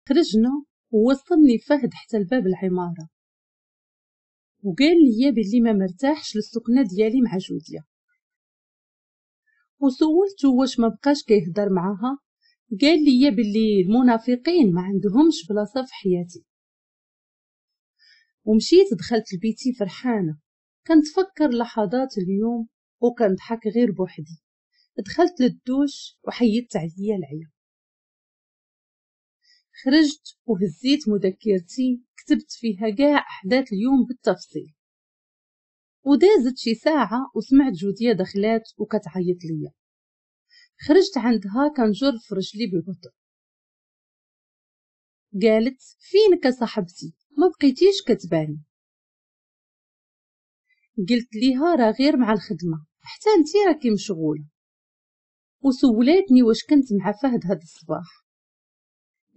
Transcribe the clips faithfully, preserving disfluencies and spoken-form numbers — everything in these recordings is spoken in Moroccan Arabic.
خرجنا ووصلني فهد حتى لباب العمارة، وقال لي بلي ما مرتاحش للسكنة ديالي مع جوديا. وسولته واش ما بقاش كيهضر معاها، قال لي بلي المنافقين ما عندهمش بلاصة في حياتي. ومشيت دخلت لبيتي فرحانة، كنتفكر لحظات اليوم وكنضحك غير بوحدي. دخلت للدوش وحيدت عليا العيا. خرجت وهزيت مذكرتي كتبت فيها كاع احداث اليوم بالتفصيل. ودازت شي ساعة وسمعت جوديا دخلات وكتعيط ليا. خرجت عندها كنجر في رجلي ببطء. قالت فينك صاحبتي، ما بقيتيش كتباني. قلت ليها راه غير مع الخدمة، حتى انتي راكي مشغولة. وسولاتني واش كنت مع فهد هاد الصباح.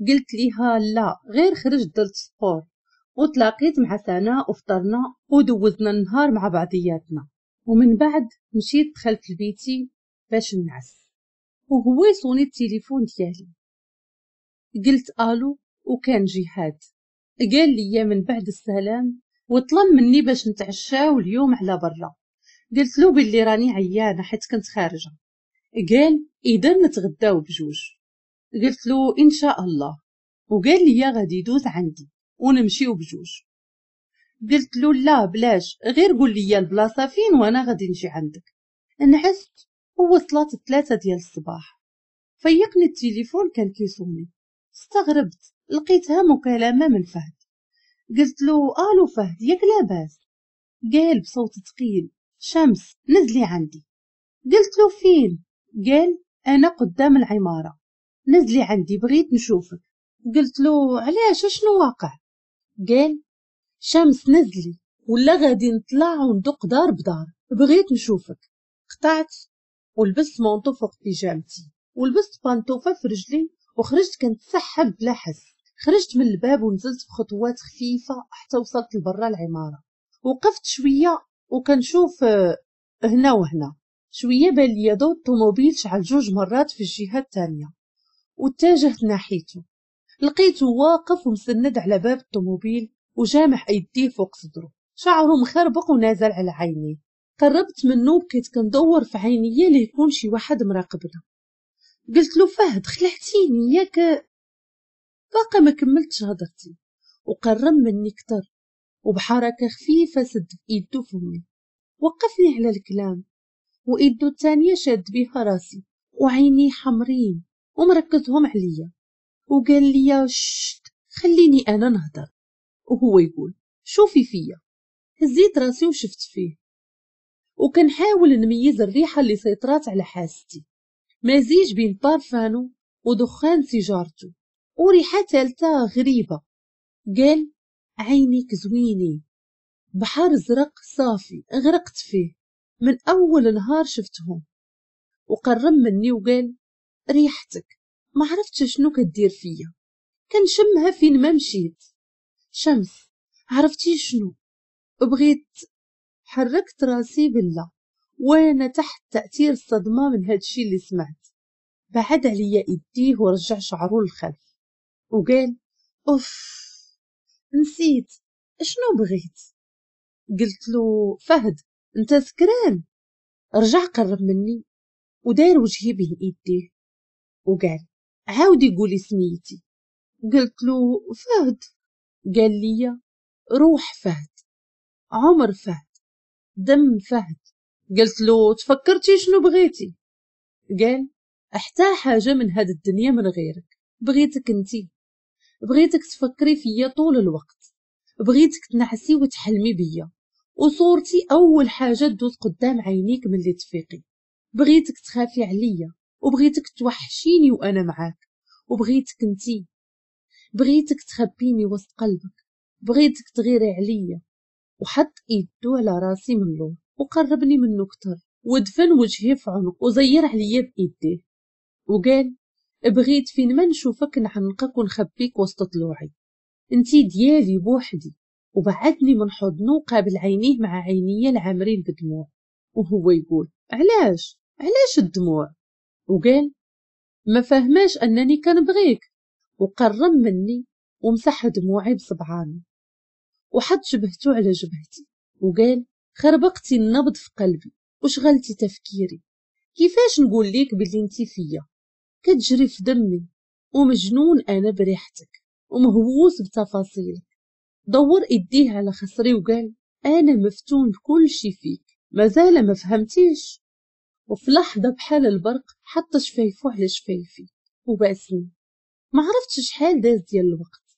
قلت ليها لا، غير خرجت درت sport وتلاقيت مع سناء وفطرنا ودوزنا النهار مع بعضياتنا، ومن بعد مشيت دخلت لبيتي باش نعس. وهو يصوني التليفون ديالي. قلت الو، وكان جهاد. قال لي من بعد السلام وطلب مني باش نتعشاو اليوم على برا. قلت له باللي راني عيانه حيت كنت خارجه. قال اذا نتغداو بجوج. قلت له ان شاء الله. وقال لي غادي يدوز عندي ونمشيو بجوج. قلت له لا بلاش، غير قول لي البلاصة فين وانا غادي نجي عندك. نعست ووصلت الثلاثة ديال الصباح. فيقني التليفون كان كيصوني. استغربت، لقيتها مكالمة من فهد. قلت له الو فهد، ياك لاباس؟ قال بصوت ثقيل شمس نزلي عندي. قلت له فين؟ قال انا قدام العمارة، نزلي عندي بغيت نشوفك. قلت له علاش، شنو واقع؟ قال شمس نزلي ولا غادي نطلع وندق دار بدار، بغيت نشوفك. قطعت ولبست manteau فوق بيجامتي ولبست بانطوفه في رجلي وخرجت كنتسحب بلا حس. خرجت من الباب ونزلت بخطوات خفيفة حتى وصلت لبرا العمارة. وقفت شوية وكنشوف هنا وهنا. شوية بان لي ضوء الطوموبيل شعل جوج مرات في الجهة الثانية واتجهت ناحيته. لقيته واقف ومسند على باب الطوموبيل وجامع ايديه فوق صدره، شعره مخربق ونازل على عينيه. قربت منه وبقيت كندور في عينيا ليكون شي واحد مراقبنا. قلت له فهد خلعتيني ياك. باقا ما كملتش هضرتي وقرب مني كتر وبحركه خفيفة سد بايدو فمي، وقفني على الكلام وايدو الثانية شاد بيها راسي وعيني حمرين ومركزهم عليا. وقال لي شت خليني انا نهضر. وهو يقول شوفي فيا. هزيت راسي وشفت فيه وكنحاول نميز الريحة اللي سيطرات على حاستي، مزيج بين بارفانو ودخان سيجارته وريحه ثالثة غريبة. قال عينيك زوينين، بحر زرق صافي غرقت فيه من اول نهار شفتهم. وقرب مني وقال ريحتك ما عرفتش شنو كدير فيا، كنشمها فين ما مشيت. شمس عرفتي شنو بغيت؟ حركت راسي بالله وانا تحت تأثير الصدمة من هادشي اللي سمعت. بعد عليا ايديه ورجع شعره للخلف وقال اوف نسيت شنو بغيت. قلت له فهد انت سكران؟ رجع قرب مني وداير وجهي بين ايديه وقال عاودي قولي سميتي. قلت له فهد. قال لي روح فهد، عمر فهد، دم فهد. قلت له تفكرتي شنو بغيتي؟ قال حتى حاجة من هاد الدنيا من غيرك، بغيتك انتي، بغيتك تفكري فيا طول الوقت، بغيتك تنعسي وتحلمي بيا وصورتي اول حاجة تدوز قدام عينيك ملي تفيقي، بغيتك تخافي عليا وبغيتك توحشيني وانا معاك، وبغيتك انتي، بغيتك تخبيني وسط قلبك، بغيتك تغيري عليا. وحط ايدو على راسي من لور وقربني منه كتر ودفن وجهي في عنق وزير عليا بايديه وقال بغيت فين ما نشوفك نعنقك ونخبيك وسط طلوعي، انتي ديالي بوحدي. وبعدني من حضنه وقابل عينيه مع عينيه العامرين بدموع وهو يقول علاش علاش الدموع؟ وقال ما فهماش انني كنبغيك. وقرب مني ومسح دموعي بصبعانه وحط جبهته على جبهتي وقال خربقتي النبض في قلبي وشغلتي تفكيري. كيفاش نقول ليك باللي انتي فيا؟ كتجري في دمي ومجنون انا بريحتك ومهووس بتفاصيلك. دور ايديه على خصري وقال انا مفتون بكل شي فيك، مازال ما فهمتيش. وفي لحظة بحال البرق حط شفايفو على شفايفي وباسني. ما عرفتش شحال داز ديال الوقت،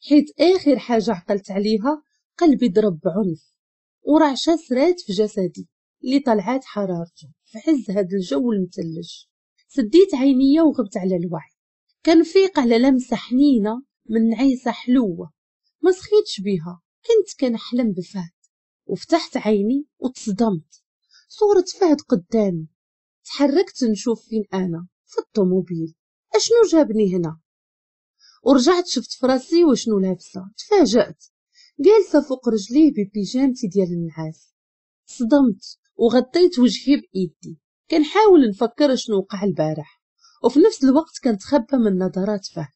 حيت اخر حاجة عقلت عليها قلبي ضرب بعنف ورعشه سرات في جسدي اللي طلعات حرارته في عز هاد الجو المثلج. سديت عينيا وغبت على الوعي، كنفيق على لمسه حنينه من نعيسه حلوة ما سخيتش بيها. كنت كنحلم بفهد، وفتحت عيني وتصدمت، صورة فهد قدامي. تحركت نشوف فين انا، في الطوموبيل، اشنو جابني هنا؟ ورجعت شفت فراسي وشنو لابسه، تفاجأت جالسة فوق رجليه ببيجامتي ديال النعاس. صدمت وغطيت وجهي بايدي كنحاول نفكر شنو وقع البارح، وفي نفس الوقت كنتخبى من نظرات فهد.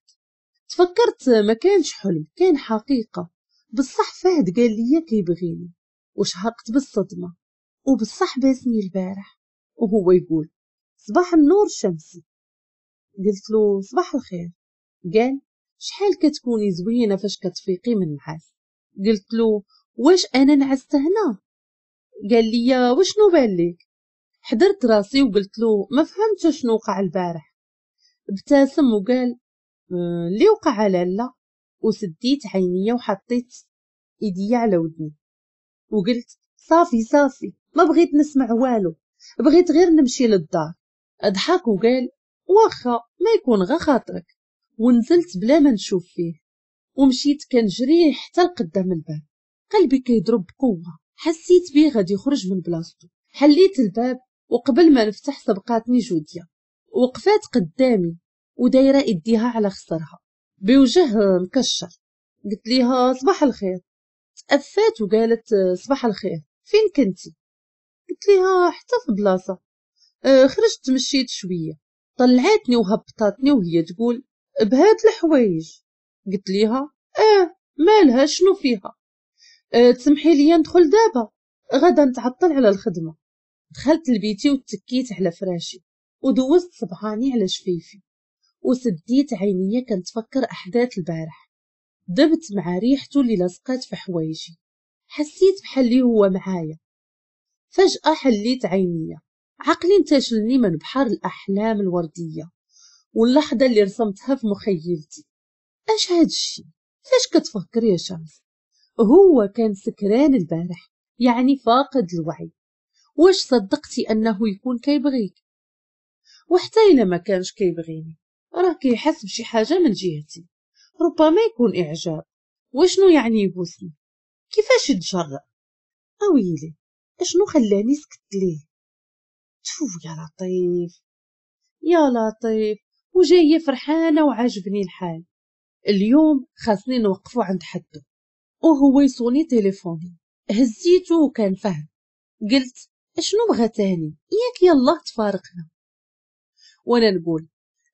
تفكرت ما كانش حلم، كان حقيقة. بصح فهد قال لي كيبغيني، وشهقت بالصدمة. وبصح باسني البارح وهو يقول صباح النور الشمسي. قلت له صباح الخير. قال شحال كتكوني زوينة فاش كتفيقي من النعاس. قلت له واش انا نعست هنا؟ قال لي وشنو بان لك؟ حضرت راسي وقلت له ما فهمتش شنو وقع البارح. ابتسم وقال اللي وقع لالا. وسديت عينيا وحطيت ايديا على ودني وقلت صافي صافي، ما بغيت نسمع والو، بغيت غير نمشي للدار. اضحك وقال واخا ما يكون غا خاطرك. ونزلت بلا ما نشوف فيه ومشيت كنجري حتى لقدام الباب. قلبي كيضرب بقوة، حسيت بيه غادي يخرج من بلاصتو. حليت الباب وقبل ما نفتح سبقاتني جوديا، وقفات قدامي ودايره ايديها على خصرها بوجه مكشر. قلت ليها صباح الخير. تأفات وقالت صباح الخير، فين كنتي؟ قلت ليها حتى في بلاصة، خرجت مشيت شوية. طلعتني وهبطاتني وهي تقول بهاد الحوايج. قلت ليها اه مالها شنو فيها؟ أه تسمحي لي ندخل دابا، غدا نتعطل على الخدمة. دخلت لبيتي وتكيت على فراشي ودوزت صبعاني على شفيفي وسديت عينيا كنتفكر احداث البارح. دبت مع ريحته اللي لصقات في حوايجي، حسيت بحال اللي هو معايا. فجأة حليت عينيا، عقلي انتشلني من بحر الأحلام الوردية واللحظة اللي رسمتها في مخيلتي. اش هاد الشي؟ فاش كتفكر يا شمس؟ هو كان سكران البارح، يعني فاقد الوعي. واش صدقتي انه يكون كيبغيك؟ وحتى الا ما كانش كيبغيني راه كيحس بشي حاجة من جهتي، ربما يكون اعجاب. وشنو يعني يبوسني؟ كيفاش يتجرأ؟ اويلي اشنو خلاني سكت ليه؟ تفو يا لطيف يا لطيف. وجاية فرحانة وعاجبني الحال. اليوم خاصني نوقفو عند حده. وهو يصوني تليفوني، هزيته وكان فهم. قلت اشنو بغا تاني؟ ياك يلاه تفارقنا. وانا نقول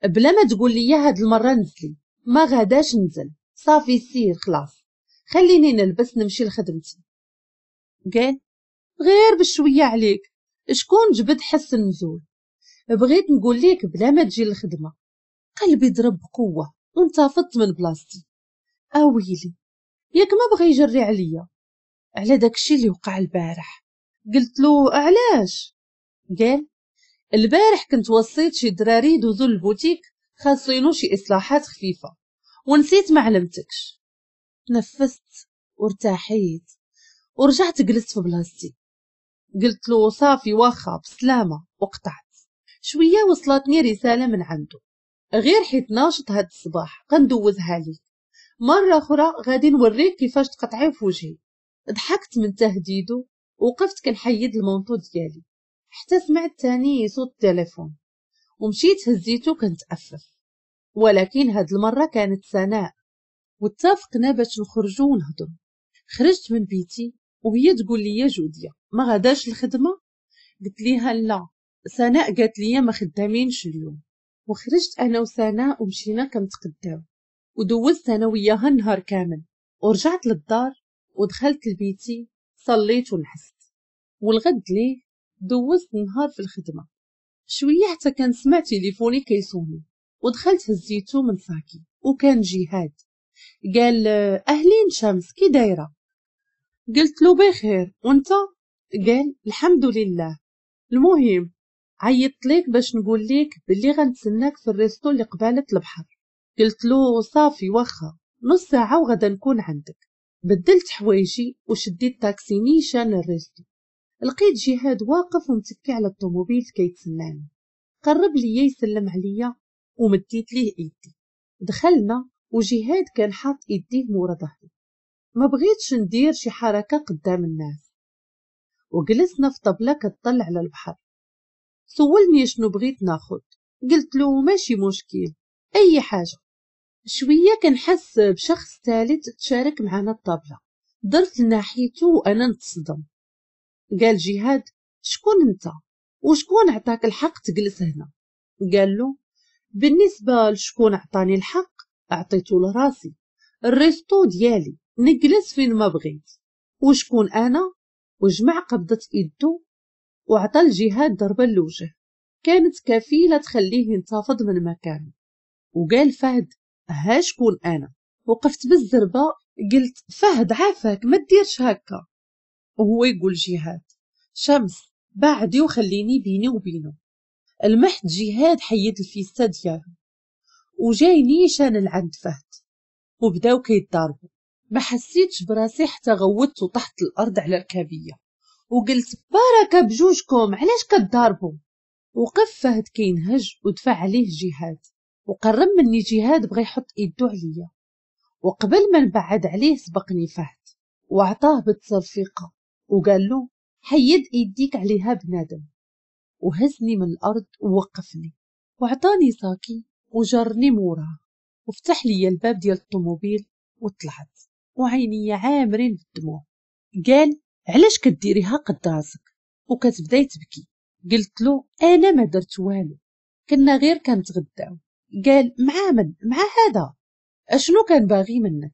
بلا ما تقول لي هاد المرة نزلي، ما غاداش نزل، صافي سير خلاص، خليني نلبس نمشي لخدمتي. قال غير بشوية عليك، شكون جبد حس النزول؟ بغيت نقول ليك بلا ما تجي للخدمة. قلبي ضرب بقوة وانتفضت من بلاصتي. اويلي ياك ما بغى يجري عليا على داكشي اللي وقع البارح. قلت له علاش؟ قال البارح كنت وصيت شي دراري يدوزو للبوتيك خاصينو شي اصلاحات خفيفة ونسيت ما علمتكش. تنفست وارتاحيت ورجعت جلست في بلاصتي. قلت له صافي واخا بسلامه وقطعت. شوية وصلتني رسالة من عنده، غير حيت ناشط هاد الصباح غندوزها ليك، مرة اخرى غادي نوريك كيفاش تقطعي في وجهي. ضحكت من تهديده وقفت كنحيد ال manteau ديالي حتى سمعت تاني صوت التليفون ومشيت هزيته كنتأفف، ولكن هاد المرة كانت سناء واتفقنا باش نخرجوا ونهضروا. خرجت من بيتي وهي تقول لي جوديا ما غاداش الخدمة؟ قلت ليها لا، سناء قالت لي ما خدامينش اليوم. وخرجت انا وسناء ومشينا كنتقداو. ودوزت انا وياها النهار كامل. ورجعت للدار ودخلت لبيتي، صليت ونحست. والغد ليه دوزت النهار في الخدمة. شوية حتى كنسمع تليفوني كيصوني، ودخلت هزيتو من صاكي وكان جهاد. قال اهلين شمس، كي دايرة؟ قلت له بخير، وانت؟ قال الحمد لله. المهم عيطت ليك باش نقول ليك باللي غنتسناك في ال resto اللي قبالة البحر. قلت له صافي واخا، نص ساعة وغدا نكون عندك. بدلت حوايجي وشديت تاكسي نيشان لل resto. لقيت جهاد واقف ومتكي على الطوموبيل كيتسناني. قرب ليا يسلم عليا ومديت ليه ايدي. دخلنا وجهاد كان حاط ايديه مورا ظهري. ما بغيتش ندير شي حركة قدام الناس. وجلسنا في طبله كتطل على البحر. سولني شنو بغيت ناخد، قلت له ماشي مشكل اي حاجة. شوية كنحس بشخص ثالث تشارك معنا الطابله. درت لناحيته وانا نتصدم. قال جهاد شكون انت وشكون عطاك الحق تجلس هنا؟ قال له بالنسبة لشكون عطاني الحق اعطيته لراسي، ال resto ديالي نجلس فين ما بغيت، وشكون انا؟ وجمع قبضه ايدو وعطى الجهاد ضربه للوجه كانت كفيله تخليه ينتفض من مكانه. وقال فهد ها شكون انا؟ وقفت بالزربه قلت فهد عافاك ما ديرش هكا. وهو يقول جهاد شمس بعدي وخليني بيني وبينه. المحت جهاد حيد الفيستا ديالو وجاي نيشان لعند فهد وبداو كيتضاربوا. ما حسيتش براسي حتى غوتت وطحت الارض على الكابيه وقلت بركة بجوجكم علاش كتضاربوا؟ وقف فهد كينهج ودفع عليه جهاد وقرب مني جهاد بغى يحط ايدو عليا، وقبل ما نبعد عليه سبقني فهد وعطاه بالتصرفيقه وقال له حيد ايديك عليها بنادم. وهزني من الارض ووقفني وعطاني صاكي وجرني موراه وفتح لي الباب ديال الطوموبيل وطلعت وعيني عامرين بالدموع. قال علاش كديريها قد راسك وكتبداي تبكي؟ قلت له انا ما درت والو، كنا غير كنتغداو. قال مع من؟ مع هذا؟ اشنو كان باغي منك؟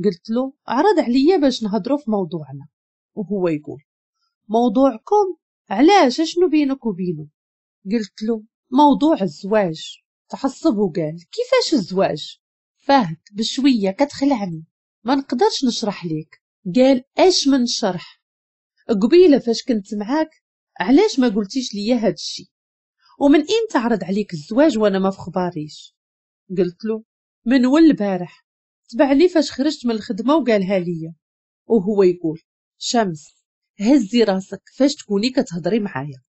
قلت له عرض عليا باش نهضروا في موضوعنا. وهو يقول موضوعكم؟ علاش اشنو بينك وبينه؟ قلت له موضوع الزواج. تحصب وقال كيفاش الزواج؟ فهد بشوية كتخلعني ما نقدرش نشرح ليك. قال اش من شرح؟ قبيلة فاش كنت معاك علاش ما قلتيش ليا هاد الشي؟ ومن امتى عرض عليك الزواج وانا ما في خباريش؟ قلت له من ول البارح، تبعني فاش خرجت من الخدمة وقالها ليا. وهو يقول شمس هزي راسك فاش تكوني كتهضري معايا،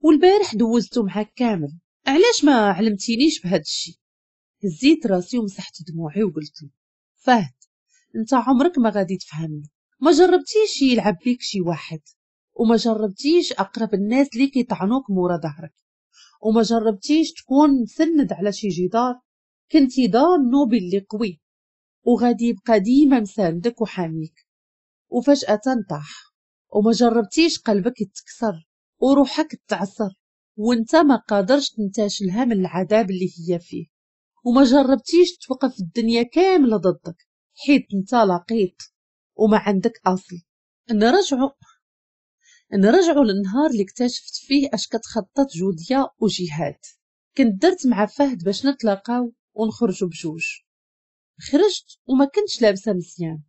والبارح دوزتو معاك كامل، علاش ما علمتينيش بهاد الشي؟ هزيت راسي ومسحت دموعي وقلت له فهد انت عمرك ما غادي تفهمني، ما جربتيش يلعب بيك شي واحد، وما جربتيش اقرب الناس اللي كيطعنوك مورا ظهرك، وما جربتيش تكون مسند على شي جدار كنتي ظانو باللي قوي وغادي يبقى ديما مساندك وحاميك، وفجأة طاح، وما جربتيش قلبك يتكسر وروحك تعصر وانت ما قادرش تنتاشلها من العذاب اللي هي فيه، وما جربتيش توقف الدنيا كاملة ضدك حيت انت لقيط وما عندك اصل. نرجعوا نرجعوا للنهار اللي اكتشفت فيه اش كتخطط جوديا وجهاد. كنت درت مع فهد باش نتلاقاو ونخرجوا بجوج. خرجت وما كنتش لابسه مزيان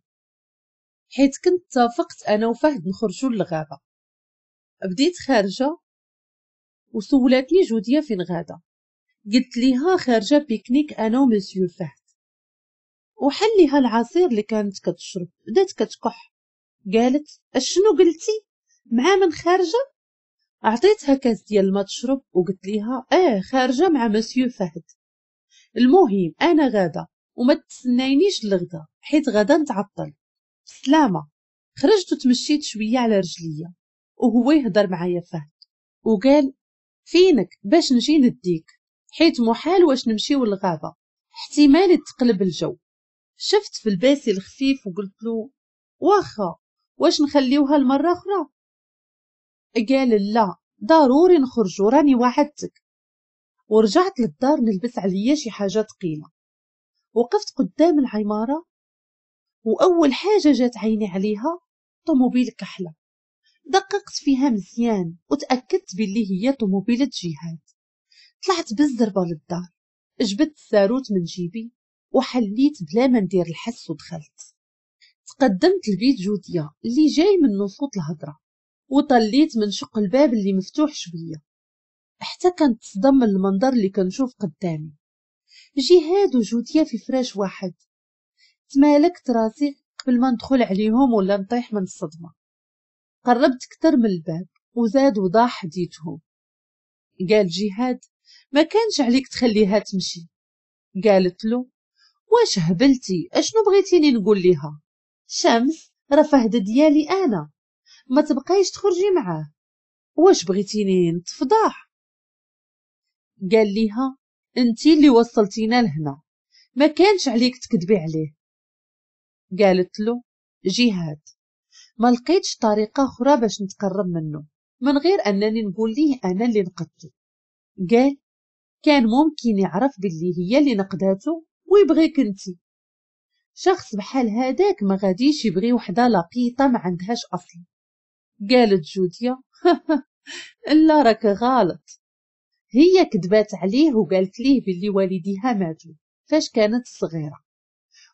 حيت كنت اتفقت انا وفهد نخرجوا للغابه. بديت خارجه وسولاتني جوديا فين غاده، قلت ليها خارجه pique-nique انا ومسيو فهد. وحل ليها العصير اللي كانت كتشرب، بدات كتكح. قالت اشنو قلتي؟ مع من خارجه؟ عطيتها كاس ديال الماء تشرب وقلت ليها اه خارجه مع مسيو فهد. المهم انا غاده وما تسناينيش الغدا حيت غدا نتعطل، بسلامه. خرجت وتمشيت شوية على رجليا وهو يهضر معايا فهد وقال فينك باش نجي نديك حيت محال واش نمشيو للغابه، احتمال تقلب الجو. شفت في الباسي الخفيف وقلت له واخا واش نخليوها المرة اخرى؟ قال لا ضروري نخرجوا راني وعدتك. ورجعت للدار نلبس عليا شي حاجة ثقيلة وقفت قدام العمارة، وأول حاجة جات عيني عليها طوموبيل كحلة. دققت فيها مزيان وتأكدت باللي هي طوموبيلة جهاد. طلعت بالزربة للدار، جبدت الساروت من جيبي وحليت بلا ما ندير الحس ودخلت. تقدمت لبيت جوديا اللي جاي من صوت الهضرة، وطليت من شق الباب اللي مفتوح شوية، حتى كنت تصدم من المنظر اللي كنشوف قدامي. جهاد وجوديا في فراش واحد. تمالكت راسي قبل ما ندخل عليهم ولا نطيح من الصدمة. قربت كتر من الباب وزاد وضاح حديثهم. قال جهاد ما كانش عليك تخليها تمشي. قالت له واش هبلتي؟ اشنو بغيتيني نقول ليها؟ شمس راه فهد ديالي انا، ما تبقايش تخرجي معاه، واش بغيتيني نتفضح؟ قال ليها انتي اللي وصلتينا لهنا، ما كانش عليك تكذبي عليه. قالت له جهاد ما لقيتش طريقه اخرى باش نتقرب منه من غير انني نقول ليه انا اللي نقدته. قال كان ممكن يعرف باللي هي اللي نقداته ويبغيك انتي. شخص بحال هذاك ما غاديش يبغي وحده لقيطه ما عندهاش اصل. قالت جوديا لا راك غلط، هي كذبات عليه وقالت ليه باللي والديها ماتوا فاش كانت صغيرة،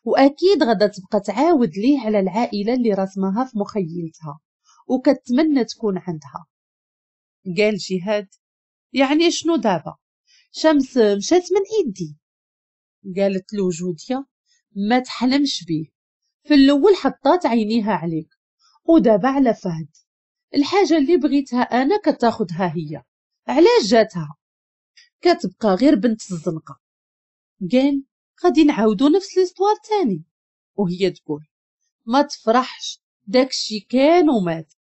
واكيد غادا تبقى تعاود ليه على العائلة اللي رسمها في مخيلتها وكتمنى تكون عندها. قال جهاد يعني شنو دابا؟ شمس مشات من ايدي. قالت له جوديا ما تحلمش بيه، في الاول حطات عينيها عليك ودابا على فهد، الحاجة اللي بغيتها انا كتاخدها هي، علاش جاتها؟ كتبقى غير بنت الزنقة. قال غادي نعاودو نفس l'histoire تاني. وهي تقول ما تفرحش، داكشي كان ومات،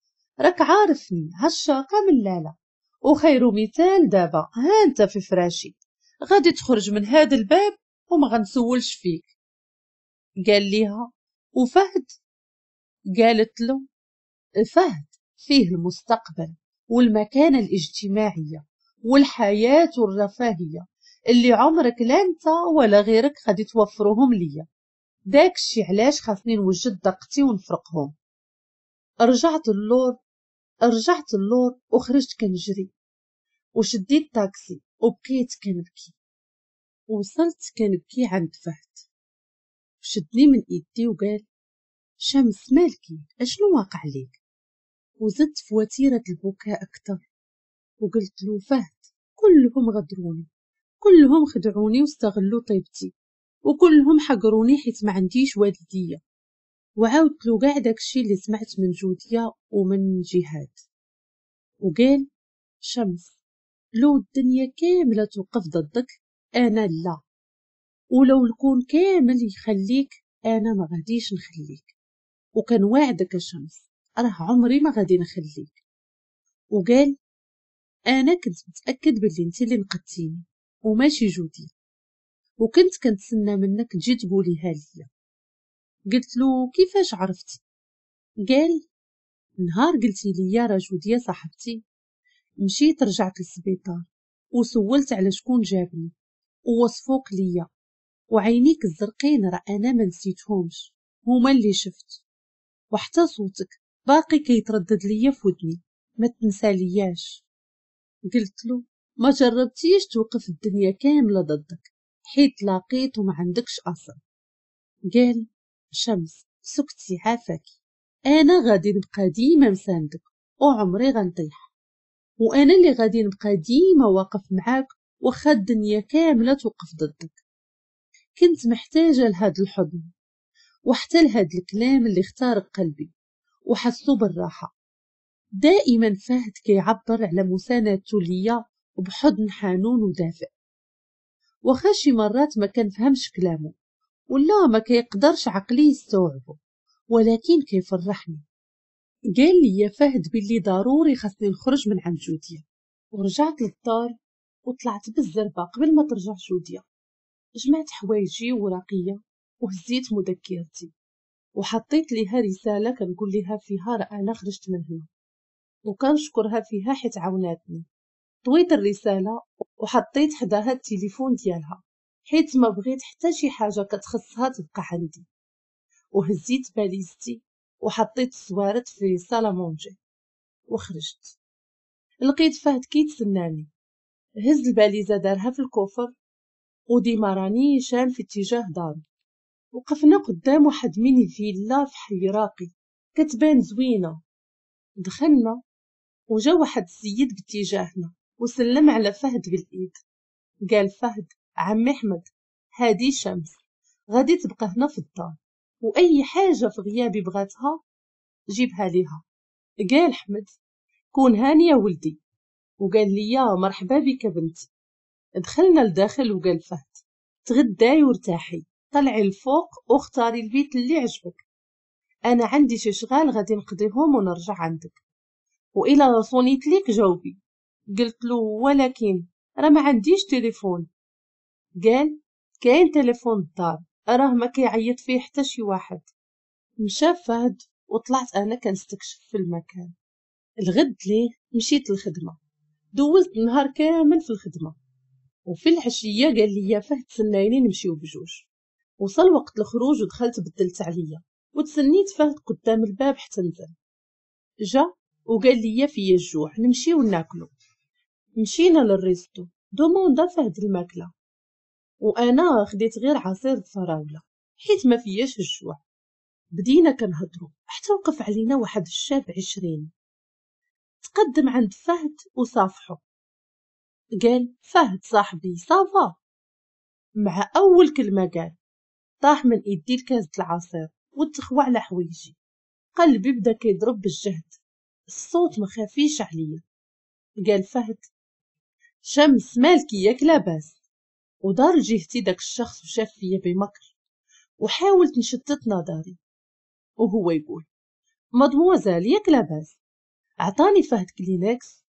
راك عارفني هالشاقه من لاله، وخير مثال دابا ها انت في فراشي، غادي تخرج من هذا الباب وما غنسولش فيك. قال ليها وفهد؟ قالت له فهد فيه المستقبل والمكانة الاجتماعية والحياة والرفاهية اللي عمرك لا انت ولا غيرك غادي توفرهم ليا، داكشي علاش خاصني نوجد دقتي ونفرقهم. رجعت اللور رجعت اللور وخرجت كنجري وشديت تاكسي وبقيت كنبكي. وصلت كنبكي عند فهد، شدني من ايدي وقال شمس مالكي، اشنو واقع ليك؟ وزدت في وتيرة البكاء اكثر وقلت له فهد كلهم غدروني، كلهم خدعوني واستغلوا طيبتي، وكلهم حقروني حيت ما عنديش والديه. وعاودت له كاع داكشي اللي سمعت من جوديا ومن جهاد. وقال شمس لو الدنيا كاملة توقف ضدك انا لا، ولو الكون كامل يخليك انا ما غاديش نخليك، وكان وعدك شمس راه عمري ما غادي نخليك. وقال انا كنت متاكد باللي انت اللي نقدتيني وماشي جودي، وكنت كنتسنى منك تجي تقوليها ليا. قلت له كيفاش عرفتي؟ قال نهار قلتي لي راه جوديا صاحبتي، مشيت رجعت للسبيطار وسولت على شكون جابني ووصفوك ليا، وعينيك الزرقين راه انا ما نسيتهمش، هما اللي شفت، وحتى صوتك باقي كيتردد ليا في ودني، ما تنسالياش. قلت له ما جربتيش توقف الدنيا كاملة ضدك حيت لاقيت وما عندكش اصل. قال شمس سكتي عافاكي، انا غادي نبقى ديما مساندك وعمري غنطيح، وانا اللي غادي نبقى ديما واقف معاك واخا الدنيا كاملة توقف ضدك. كنت محتاجه لهذا الحضن وحتى لهذا الكلام اللي اخترق قلبي وحسو بالراحة. دائما فهد كيعبر على مساندته ليا وبحضن حنون ودافئ، واخا شي مرات ما كنفهمش كلامه ولا ما كيقدرش عقلي يستوعبه، ولكن كيفرحني. قال لي يا فهد باللي ضروري خاصني نخرج من عند جوديا، ورجعت للدار وطلعت بالزربه قبل ما ترجع جوديا. جمعت حوايجي وراقيه وهزيت مذكرتي وحطيت ليها رسالة كنقول ليها فيها راه انا خرجت من هنا، وكنشكرها فيها حيت عاوناتني. طويت الرسالة وحطيت حداها التليفون ديالها حيت ما بغيت حتى شي حاجة كتخصها تبقى عندي. وهزيت باليزتي وحطيت السوارت في salle à manger وخرجت. لقيت فهد كيتسناني، هز الباليزه دارها في ال coffre و démarra نيشان في اتجاه دارو. وقفنا قدام واحد mini villa في حي راقي كتبان زوينة. دخلنا وجا واحد السيد باتجاهنا وسلم على فهد بالايد. قال فهد: عمي احمد، هادي شمس غادي تبقى هنا في الدار، واي حاجة في غيابي بغاتها جيبها ليها. قال احمد: كون هاني يا ولدي. وقال لي: مرحبا بك بنتي. دخلنا لداخل وقال فهد: تغداي وارتاحي، طلعي الفوق واختاري البيت اللي عجبك، انا عندي شي شغال غادي نقضيهم ونرجع عندك، والا صونيت ليك جاوبي. قلت له: ولكن راه ما عنديش تليفون. قال: كاين تليفون الدار، راه ما كيعيط فيه حتى شي واحد. مشى فهد وطلعت انا كنستكشف في المكان. الغد ليه مشيت للخدمة، دوزت النهار كامل في الخدمة، وفي العشية قال لي فهد: تسنايني نمشيو بجوج. وصل وقت الخروج ودخلت بدلت عليا وتسنيت فهد قدام الباب حتى نزل. جا وقال لي: فيا الجوع، نمشيو ناكلو. مشينا لل resto، demanda فهد الماكلة وانا خديت غير عصير الفراوله حيت ما فياش الجوع. بدينا كنهضروا حتى وقف علينا واحد الشاب عشرين، تقدم عند فهد وصافحو. قال: فهد صاحبي ça va. مع اول كلمة قال طاح من ايدي الكاس العصير وتخوى على حوايجي. قلبي بدا كيضرب بالجهد، الصوت ما خافيش عليا. قال فهد: شمس مالكي ياك لاباس؟ ودار لجهتي داك الشخص وشاف فيا بمكر، وحاولت نشتت نظري وهو يقول: مادموزيل ياك لاباس؟ عطاني فهد كلينكس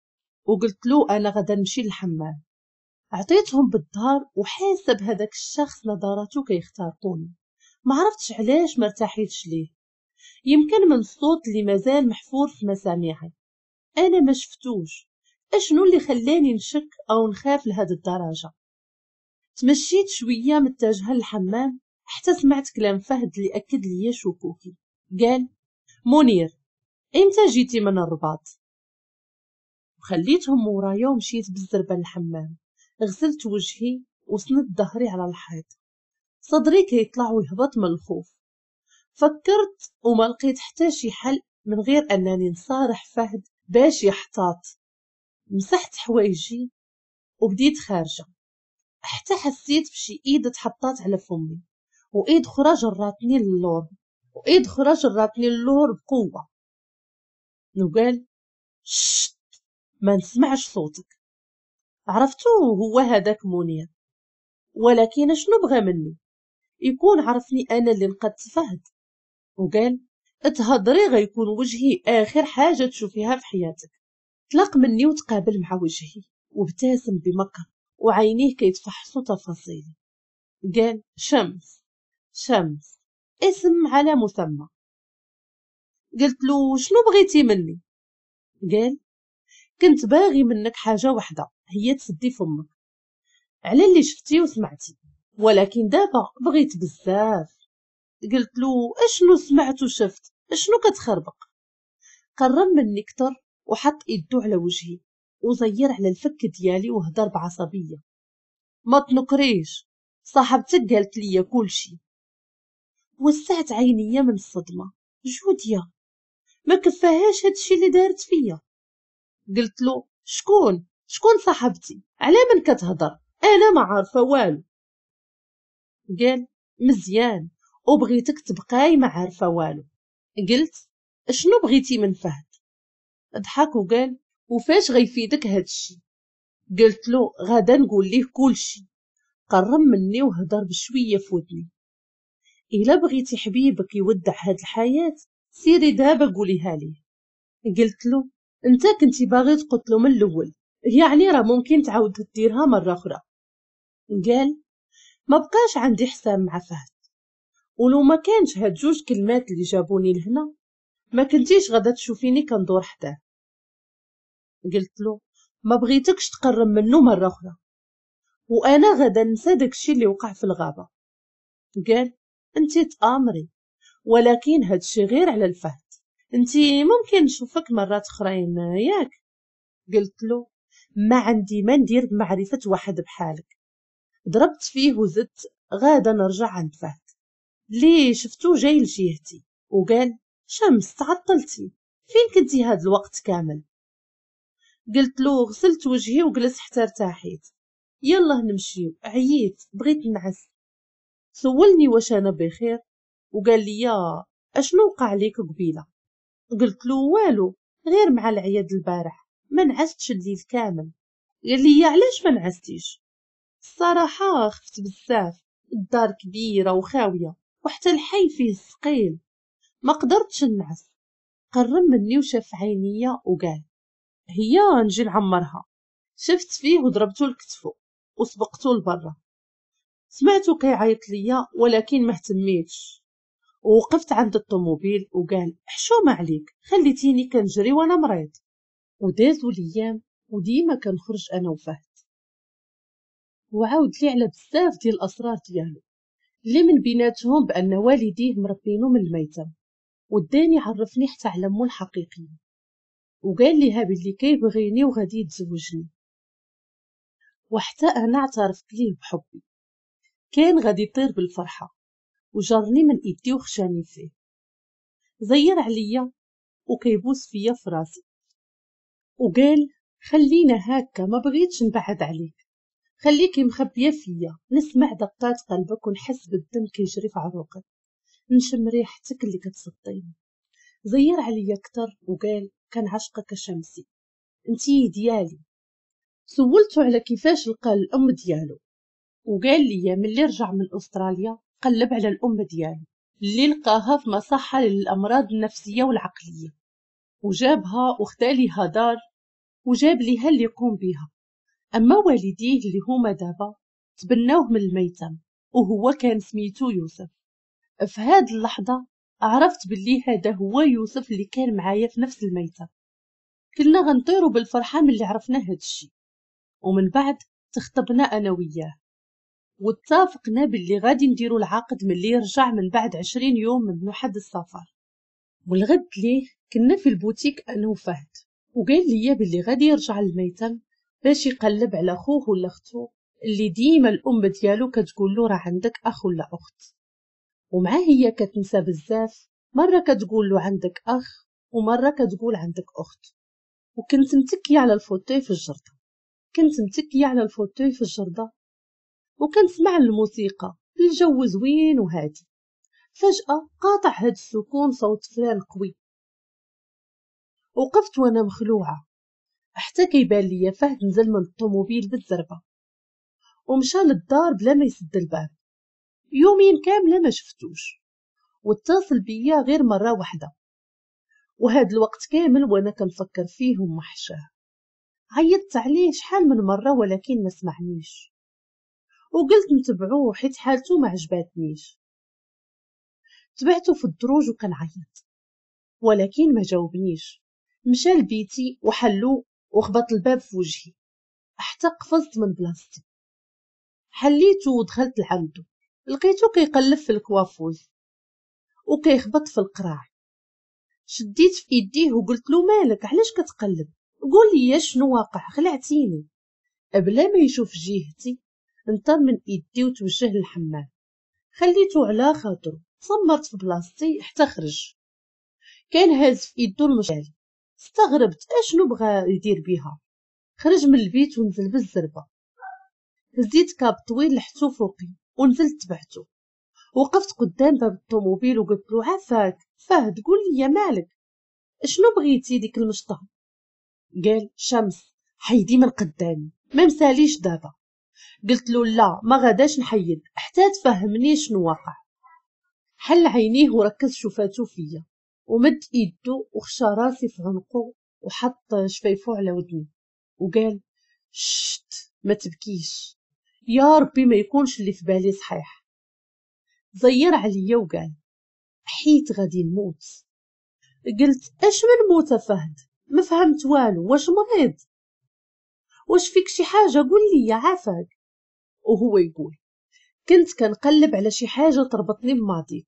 وقلت له انا غدا نمشي للحمام. عطيتهم بالظهر وحاسب هذاك الشخص نظراته كيخترقوني. ما عرفتش علاش ما ارتاحيتش ليه، يمكن من الصوت اللي مازال محفور في مسامعي. انا ما شفتوش، اشنو اللي خلاني نشك او نخاف لهاد الدرجة؟ تمشيت شوية متجهة للحمام حتى سمعت كلام فهد اللي اكد لي شكوكي. قال: منير امتى جيتي من الرباط؟ وخليتهم ورايا ومشيت بالزربه للحمام. غسلت وجهي وسندت ظهري على الحيط، صدري كيطلع ويهبط من الخوف. فكرت وما لقيت حتى شي حل من غير انني نصارح فهد باش يحتاط. مسحت حوايجي وبديت خارجه حتى حسيت بشي ايد تحطات على فمي، وايد اخرى جراتني للور، وايد اخرى جراتني للور بقوة. وقال: شت، ما نسمعش صوتك. عرفتو هو هذاك منير، ولكن شنو بغى مني؟ يكون عرفني انا اللي نقدت فهد. وقال: اتهضري غيكون وجهي اخر حاجة تشوفيها في حياتك. طلق مني وتقابل مع وجهي وابتسم بمكر وعينيه كيتفحصوا تفاصيلي. قال: شمس، شمس اسم على مسمى. قلت له: شنو بغيتي مني؟ قال: كنت باغي منك حاجة واحدة، هي تسدي فمك على اللي شفتي وسمعتي، ولكن دابا بغيت بزاف. قلت له: اشنو سمعت وشفت؟ اشنو كتخربق؟ قرب مني كتر وحط ايدو على وجهي وزير على الفك ديالي وهضر بعصبيه: ما تنكريش، صاحبتك قالت لي كلشي. وسعت عينيا من الصدمة. جوديا ما كفاهاش هادشي اللي دارت فيا. قلت له: شكون شكون صاحبتي؟ على من كتهضر؟ انا ما عارفه والو. قال: مزيان، وبغيتك تبقاي ما عارفه والو. قلت: شنو بغيتي من فهد؟ ضحك وقال: وفاش غيفيدك هادشي؟ قلت له: غدا نقول ليه كلشي. قرب مني وهضر بشوية في ودني: الا بغيتي حبيبك يودع هاد الحياة سيري دابا قوليها ليه. قلت له: انت كنتي باغي تقتلو من الاول، يعني راه ممكن تعاود ديرها مرة اخرى. قال: ما بقاش عندي حساب مع فهد، ولو ما كانش هاد جوج كلمات اللي جابوني لهنا ما كنتيش غادا تشوفيني كندور حداه. قلت له: ما بغيتكش تقرب منه مرة اخرى. وانا غادا ننسى داكشي اللي وقع في الغابة. قال انتي تامري، ولكن هادشي غير على الفهد، انتي ممكن نشوفك مرات اخرين ياك؟ قلت له ما عندي ما ندير بمعرفة واحد بحالك. ضربت فيه وزدت غادا نرجع عند فهد ليه شفتو جاي لجهتي وقال شمس تعطلتي، فين كنتي هاد الوقت كامل؟ قلت له غسلت وجهي وجلست حتى ارتاحيت، يلا نمشيو عييت بغيت نعس. سولني واش انا بخير وقال لي يا اشنو وقع ليك قبيلة؟ قلت له والو غير مع العياد البارح ما نعستش الليل كامل. قال لي علاش ما نعستيش؟ الصراحة خفت بزاف، الدار كبيرة وخاويه وحتى الحي فيه الثقيل، ما قدرتش نعس. قرب مني وشاف عينيا وقال هي نجي نعمرها. شفت فيه وضربته لكتفو وسبقته لبرا. سمعته كيعيط ليا ولكن ما اهتميتش، ووقفت عند الطوموبيل وقال حشومه عليك خليتيني كنجري وانا مريض. ودازوا الايام وديما كنخرج انا وفهد، وعاود لي على بزاف ديال الاسرار ديالو اللي من بيناتهم بان والديه مربينو من الميتم، وداني عرفني حتى على مو الحقيقية، وقال ليها باللي كيبغيني وغادي يتزوجني، وحتى انا اعترفت ليه بحبي. كان غادي يطير بالفرحه وجرني من ايدي وخشاني فيه، زير عليا وكيبوس فيا في راسي وقال خلينا هكا ما بغيتش نبعد عليك، خليكي مخبيه فيا نسمع دقات قلبك ونحس بالدم كيجري في عروقك، نشم ريحتك اللي كتصديني. زير عليا اكثر وقال كنعشقك شمسي انتي ديالي. سولته على كيفاش لقى الام ديالو وقال لي ملي رجع من استراليا قلب على الام ديالو اللي لقاها في مصحه للامراض النفسية والعقلية، وجابها وخدا ليها دار وجاب ليها اللي يقوم بها. اما والديه اللي هما دابا تبناوه من الميتم وهو كان سميتو يوسف. في هاد اللحظة عرفت باللي هذا هو يوسف اللي كان معايا في نفس الميتم. كنا غنطيروا بالفرحه ملي عرفنا هاد الشيء، ومن بعد تخطبنا انا وياه واتفقنا باللي غادي نديرو العقد ملي يرجع من بعد عشرين يوم من واحد السفر. والغد ليه كنا في البوتيك انا وفهد، وقال لي باللي غادي يرجع للميتم باش يقلب على خوه ولا اختو اللي ديما الام ديالو كتقول له راه عندك اخ ولا اخت، ومع هي كتنسى بزاف، مرة كتقول له عندك اخ ومرة كتقول عندك اخت. وكنت متكيه على ال fauteuil في الجرده، كنت متكيه على ال fauteuil في الجرده وكنسمع الموسيقى، الجو زوين وهادي. فجاة قاطع هاد السكون صوت frein قوي. وقفت وانا مخلوعه حتى كيبان ليا فهد نزل من الطوموبيل بالزربه ومشى للدار بلا ما يسد الباب. يومين كاملة ما شفتوش، واتصل بيا غير مرة واحدة، وهاد الوقت كامل وانا كنفكر فيه ومحشاه. عيطت عليه شحال من مرة ولكن ما سمعنيش، وقلت نتبعوه حيت حالته ما عجباتنيش. تبعته في الدروج وكنعيط ولكن ما جاوبنيش. مشى لبيتي وحلو وخبط الباب في وجهي حتى قفزت من بلاصتي. حليته ودخلت لعنده، لقيته كيقلب في ال coiffeuse وكيخبط في القراع. شديت في ايديه وقلت له مالك علاش كتقلب، قول لي شنو واقع خلعتيني. بلا ما يشوف جهتي انطر من ايدي وتوجه للحمام. خليته على خاطره، صمرت في بلاصتي حتى خرج. كان هاز في ايدو المشعل، استغربت اشنو بغى يدير بيها. خرج من البيت ونزل بالزربه. هزيت كاب طويل لحتو فوقي ونزلت تبعته. وقفت قدام باب الطوموبيل وقلت له عافاك فهد قول لي مالك شنو بغيتي ديك المشطه؟ قال شمس حيدي من قدامي ما مساليش دابا. قلت له لا ما غاداش نحيد حتى تفهمني شنو واقع. حل عينيه وركز شفاتو فيا ومد ايدو وخشى راسي في عنقو وحط شفايفو على ودني وقال شت ما تبكيش يا ربي ما يكونش اللي في بالي صحيح. زير عليا وقال حيت غادي نموت. قلت اش من موت فهد ما فهمت والو، واش مريض واش فيك شي حاجة قول لي عافاك. وهو يقول كنت كنقلب على شي حاجة تربطني بماضيك،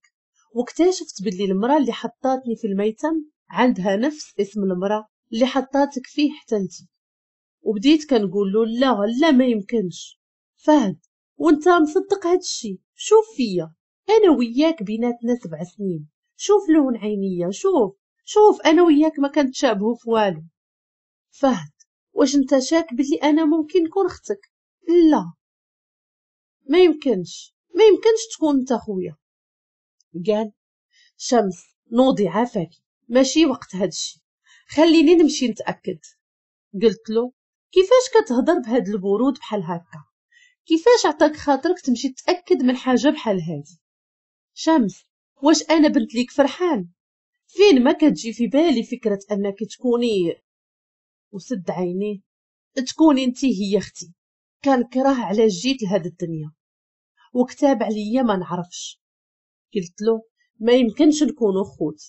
واكتشفت باللي المرأة اللي حطاتني في الميتم عندها نفس اسم المرأة اللي حطاتك فيه حتى انت. وبديت كنقول له لا لا ما يمكنش فهد، وانت مصدق هادشي؟ شوف فيا، انا وياك بيناتنا سبع سنين، شوف لون عينيا، شوف شوف انا وياك ما كنتشابهوا في والو. فهد واش انت شاك بلي انا ممكن نكون اختك؟ لا ما يمكنش، ما يمكنش تكون انت خويا. قال شمس نوضي عافاكي، ماشي وقت هادشي، خليني نمشي نتاكد. قلت له كيفاش كتهضر بهاد البرود بحال هكا؟ كيفاش عطاك خاطرك تمشي تاكد من حاجة بحال هادي؟ شمس واش انا بنت ليك فرحان؟ فين ما كتجي في بالي فكرة انك تكوني، وسد عينيه، تكوني انت هي اختي، كنكره علاش جيت لهاد الدنيا وكتاب عليا ما نعرفش. قلت له ما يمكنش نكونوا خوت،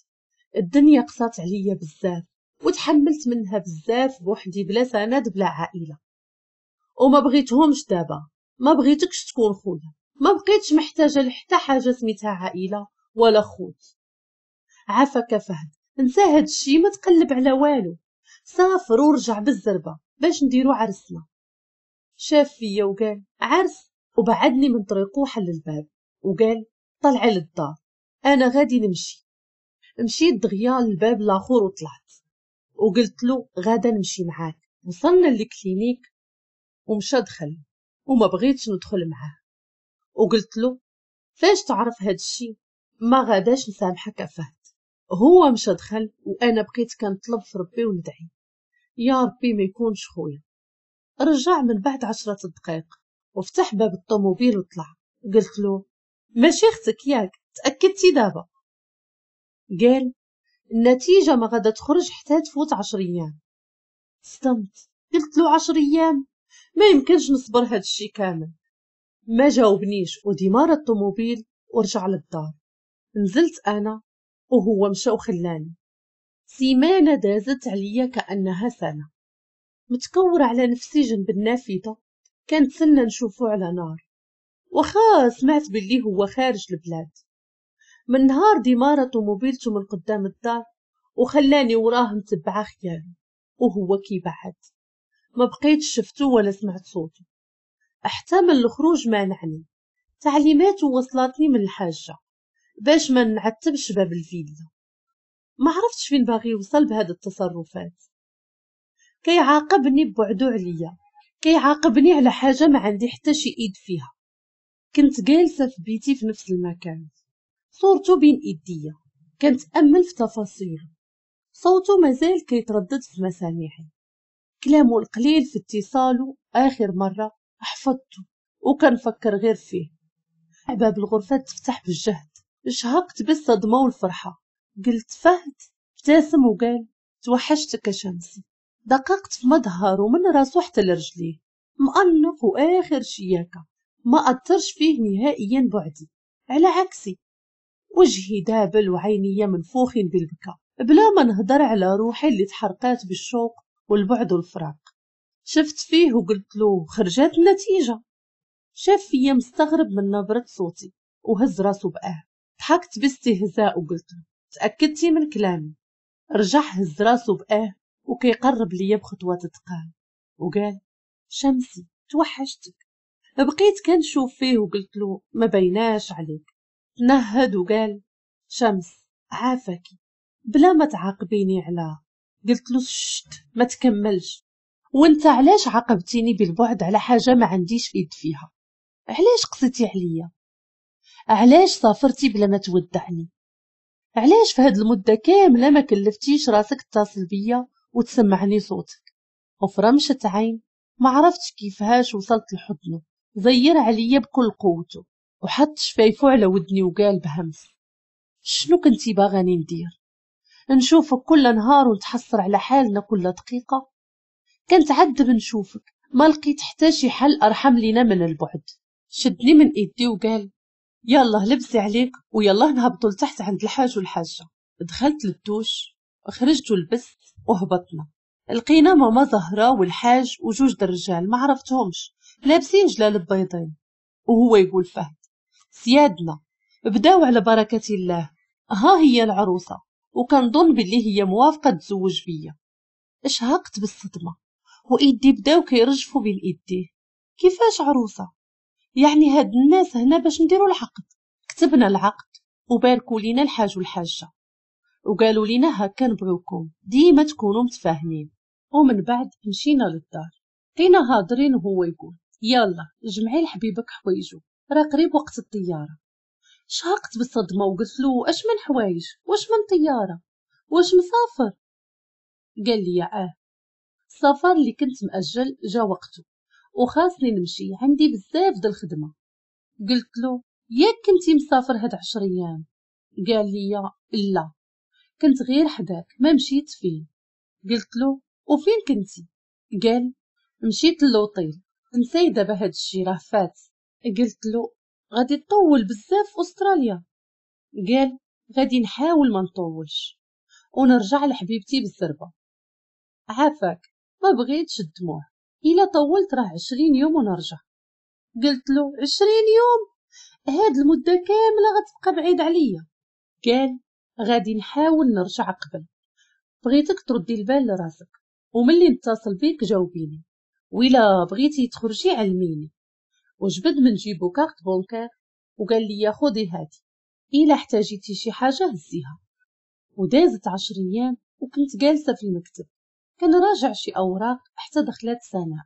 الدنيا قصات عليا بزاف وتحملت منها بزاف بوحدي بلا سند بلا عائلة، وما بغيتهمش دابا، ما بغيتكش تكون خويا، ما بقيتش محتاجه لحتى حاجة سميتها عائلة ولا خوت. عافاك فهد انسى هاد الشي، ما تقلب على والو، سافر ورجع بالزربه باش نديرو عرسنا. شاف فيا وقال عرس، وبعدني من طريقه وحل الباب وقال طلعي للدار انا غادي نمشي. مشيت دغيا للباب الاخر وطلعت وقلت له غادا نمشي معاك. وصلنا لل clinique ومشى دخل وما بغيتش ندخل معاه، وقلت له فاش تعرف هاد الشي ما غاداش نسامحك فهد. هو مشى دخل وانا بقيت كنطلب في ربي وندعي يا ربي ما يكونش خويا. رجع من بعد عشرة دقائق وفتح باب الطوموبيل وطلع. قلت له ماشي اختك ياك، تاكدتي دابا؟ قال النتيجة ما غادا تخرج حتى تفوت عشر ايام. صدمت، قلت له عشر ايام ما يمكنش نصبر هاد الشي كامل. ما جاوبنيش وديمار الطوموبيل ورجع للدار. نزلت انا وهو مشى وخلاني. سيمانه دازت عليا كانها سنة، متكوره على نفسي جنب النافذة كنتسنى نشوفو على نار، وخا سمعت باللي هو خارج البلاد. من نهار ديمارة طوموبيلته من قدام الدار وخلاني وراه متبعة خياله وهو كيبعد، ما بقيتش شفتو ولا سمعت صوته. احتمل الخروج مانعني، تعليماته وصلتني من الحاجة باش ما نعتبش باب الفيلا. ما عرفتش فين باغي يوصل بهاد التصرفات. كيعاقبني ببعدو عليا، كيعاقبني على حاجة ما عندي حتى شي ايد فيها. كنت جالسة في بيتي في نفس المكان، صورته بين ايديا، كنتامل في تفاصيله، صوته مازال كيتردد في مسامعي، كلامه القليل في اتصاله اخر مرة حفظته وكنفكر غير فيه. باب الغرفة تفتح بالجهد، شهقت بالصدمة والفرحه. قلت فهد؟ ابتسم وقال توحشتك يا شمسي. دققت في مظهره من راسه حتى لرجليه، مأنق واخر شياكه، ما اثرش فيه نهائيا بعدي، على عكسي وجهي دابل وعيني منفوخين بالبكاء، بلا ما نهضر على روحي اللي تحرقات بالشوق والبعد والفراق. شفت فيه وقلت له خرجت النتيجة. شاف فيا مستغرب من نبره صوتي وهز راسه بأه. ضحكت باستهزاء وقلت له تأكدتي من كلامي؟ رجع هز راسه بأه وكيقرب ليا بخطوات ثقال وقال شمسي توحشتك. بقيت كنشوف فيه وقلت له ما بيناش عليك. تنهد وقال شمس عافاكي بلا ما تعاقبيني على. قلت له شت ما تكملش، وانت علاش عاقبتيني بالبعد على حاجة ما عنديش ايد فيها؟ علاش قصيتي عليا؟ علاش سافرتي بلا ما تودعني؟ علاش في هاد المدة كاملة ما كلفتيش راسك تتصل بيا وتسمعني صوتك؟ وفي رمشه عين ما عرفتش كيفاش وصلت لحضنه، زير عليا بكل قوته وحط شفايفو على ودني وقال بهمس شنو كنتي باغاني ندير؟ نشوفك كل نهار ونتحسر على حالنا كل دقيقة؟ كنتعذب نشوفك، ما لقيت حتى شي حل ارحم لينا من البعد. شدني من ايدي وقال يلا لبسي عليك ويلا نهبطوا لتحت عند الحاج والحاجة. دخلت للدوش خرجت ولبست وهبطنا، لقينا ماما زهره والحاج وجوج الرجال ما عرفتهمش لابسين جلالب بيضين. وهو يقول فهد سيادنا بداو على بركة الله، ها هي العروسة وكنظن باللي هي موافقة تزوج بيا. اشهقت بالصدمة وايدي بداو كيرجفوا بين ايديه. كيفاش عروسه؟ يعني هاد الناس هنا باش نديروا العقد. كتبنا العقد وباركوا لينا الحاج والحاجة وقالوا لينا هكا نبغيوكم ديما تكونوا متفاهمين. ومن بعد مشينا للدار، بقينا هاضرين وهو يقول يلا جمعي لحبيبك حوايجو راه قريب وقت الطيارة. شهقت بالصدمة وقلت له اش من حوايج واش من طيارة واش مسافر؟ قال لي اه السفر اللي كنت مأجل جا وقته وخاصني نمشي، عندي بزاف د الخدمة. قلت له ياك كنتي مسافر هاد عشر ايام؟ قال لي لا كنت غير حداك ما مشيت فين. قلت له وفين كنتي؟ قال مشيت للوطيل. نساي دابا هاد الشي راه فات. قلت له غادي تطول بزاف في استراليا؟ قال غادي نحاول ما نطولش ونرجع لحبيبتي بالزربه. عافاك ما بغيتش الدموع، الا طولت راه عشرين يوم ونرجع. قلت له عشرين يوم؟ هاد المدة كاملة غتبقى بعيد عليا. قال غادي نحاول نرجع قبل، بغيتك تردي البال لراسك وملي نتصل بيك جاوبيني، وإلا بغيتي تخرجي علميني. وجبد من جيبو carte bancaire وقال لي خذي هادي الا احتاجيتي شي حاجة هزيها. ودازت عشر ايام وكنت جالسة في المكتب كنراجع شي اوراق حتى دخلت سناء.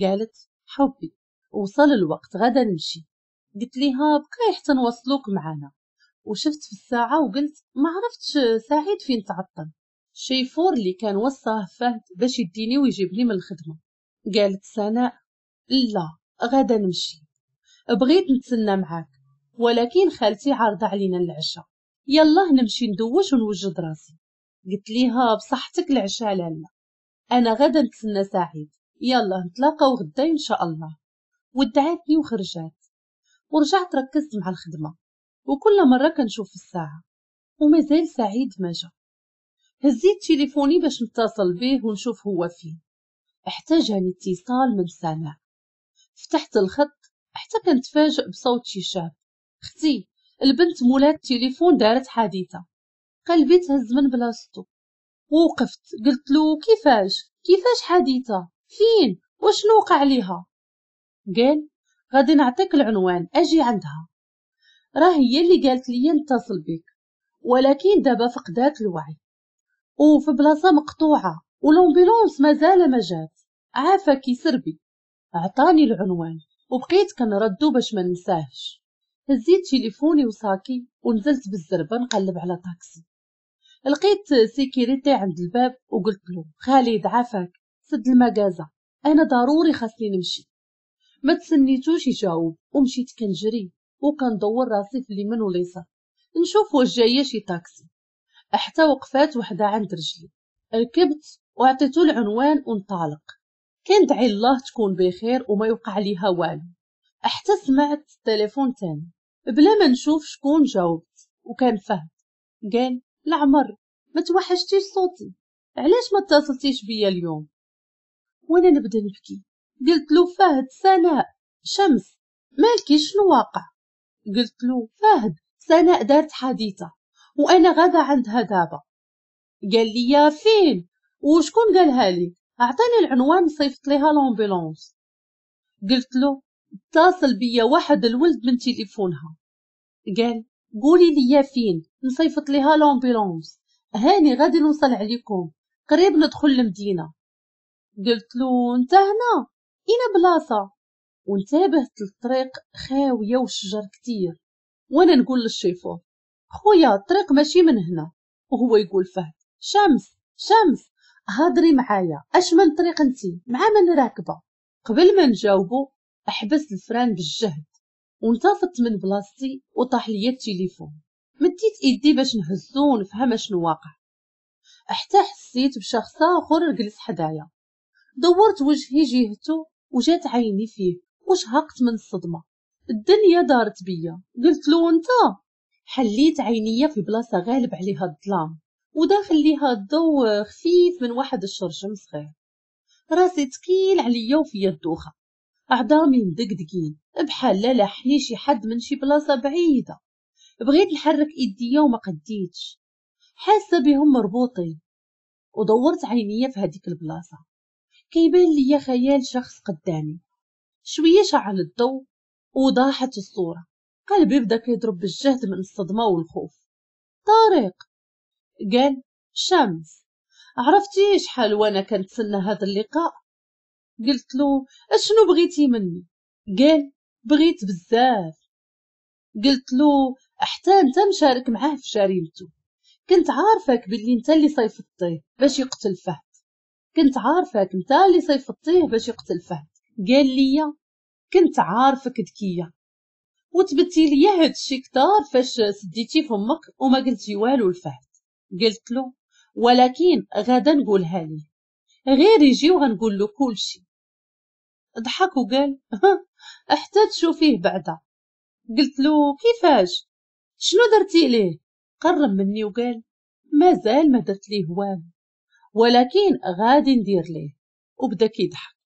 قالت حبي وصل الوقت غدا نمشي. قلت ليها بقاي حتى نوصلوك معانا. وشفت في الساعة وقلت ما عرفتش سعيد فين تعطل، الشيفور اللي كان وصاه فهد باش يديني ويجيبني من الخدمة. قالت سناء لا غدا نمشي، بغيت نتسنى معاك ولكن خالتي عارضه علينا العشاء، يلا نمشي ندوش ونوجد راسي. قلت ليها بصحتك العشاء لالا، انا غدا نتسنى سعيد، يلا نتلاقاو غدا ان شاء الله. ودعتني وخرجات. ورجعت ركزت مع الخدمة وكل مرة كنشوف الساعة ومازال سعيد ما جا. هزيت تليفوني باش نتصل به ونشوف هو فين. حتى جاني اتصال من سناء. فتحت الخط حتى كنتفاجئ بصوت شي شاب. اختي البنت مولات التليفون دارت حادثه. قلبي تهز من بلاصتو ووقفت. قلت له كيفاش كيفاش حادثه فين وشنو وقع ليها؟ قال غادي نعطيك العنوان اجي عندها، راه هي اللي قالت لي نتصل بك، ولكن دابا فقدات الوعي وفي بلاصة مقطوعة و l'ambulance مازال ما جات، عافاك يسربي. عطاني العنوان وبقيت كنردو باش ما ننساهش. هزيت تليفوني وصاكي ونزلت بالزربه نقلب على طاكسي. لقيت sécurité عند الباب وقلت له خالد عافاك سد المكازا، انا ضروري خاصني نمشي. ما تسنيتوش يجاوب ومشيت كنجري وكندور راسي في اليمين واليسار نشوف واش جاية شي طاكسي. حتى وقفات وحده عند رجلي، ركبت وعطيتو العنوان وانطلق. كندعي الله تكون بخير وما يوقع ليها والو. حتى سمعت التليفون تاني بلا ما نشوف شكون جاوبت، وكان فهد. قال العمر ما توحشتيش صوتي، علاش ما اتصلتيش بيا اليوم؟ وانا نبدا نبكي. قلت له فهد سناء شمس مالكي شنو واقع؟ قلت له فهد سناء دارت حادثه وانا غدا عندها دابا. قال لي يا فين وشكون قالها لي؟ اعطيني العنوان صيفط ليها l'ambulance. قلت له اتصل بيا واحد الولد من تليفونها. قال قولي لي فين نصيفط ليها l'ambulance، هاني غادي نوصل عليكم قريب ندخل المدينة. قلت له انت هنا اين بلاصة؟ وانتبهت للطريق خاوية والشجر كتير. وانا نقول للشيفور خويا الطريق ماشي من هنا، وهو يقول فهد شمس شمس هضري معايا، اش من طريق انتي مع من راكبه؟ قبل ما نجاوبو احبس ال frein بالجهد وانتفضت من بلاصتي وطاح ليا التليفون. مديت ايدي باش نهزو ونفهم شنو واقع، حتى حسيت بشخص اخر جلس حدايا. دورت وجهي جهته وجات عيني فيه وشهقت من الصدمة، الدنيا دارت بيا. قلت له انت؟ حليت عينيا في بلاصة غالب عليها الظلام وداخل ليها الضوء خفيف من واحد الشرجم صغير. راسي تقيل عليا وفيا الدوخه. عظامي مدقدقين بحال لا لاحني شي حد من شي بلاصة بعيدة. بغيت نحرك ايديا وما قديتش، حاسه بهم مربوطين. ودورت عينيا في هذيك البلاصة، كيبان ليا خيال شخص قدامي. شوية شعل الضوء وضاحت الصورة. قلبي بدا كيضرب بالجهد من الصدمة والخوف. طارق. قال شمس، عرفتي شحال وانا كنتسنى هذا اللقاء؟ قلت له اشنو بغيتي مني؟ قال بغيت بزاف. قلت له حتى انت مشارك معاه في جريمته، كنت عارفك باللي انت اللي صيفطتيه باش يقتل فهد، كنت عارفك انت اللي صيفطتيه باش يقتل فهد. قال لي كنت عارفك ذكية وتبتي لي هاد الشي كتار فاش سديتي فمك وما قلتي والو لفهد. قلت له ولكن غدا نقولها ليه، غير يجي وغنقول له كلشي. ضحك وقال حتى تشوفيه بعدا. قلت له كيفاش، شنو درتي ليه؟ قرب مني وقال مازال ما درت ليه والو، ولكن غادي ندير ليه. وبدا كيضحك.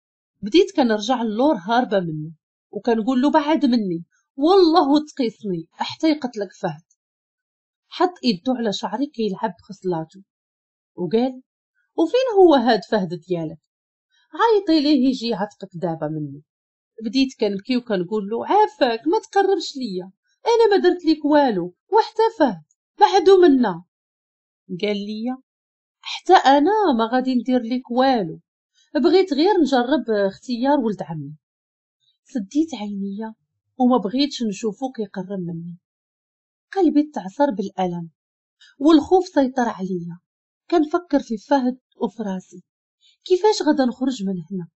بديت كنرجع اللور هاربه منه وكنقول له بعد مني والله تقيسني حتى يقتلك فهد. حط ايدو على شعري كيلعب بخصلاته وقال وفين هو هاد فهد ديالك؟ عيطي ليه يجي يعتقك دابا مني. بديت كنبكي وكنقول له عافاك ما تقربش ليا، انا ما درت ليك والو وحتى فهد بعدو منا. قال لي حتى انا ما غادي ندير ليك والو، بغيت غير نجرب اختيار ولد عمي. سديت عينيا وما بغيتش نشوفو كيقرب مني. قلبي تعصر بالالم والخوف سيطر عليا. كنفكر في فهد وفي راسي كيفاش غادا نخرج من هنا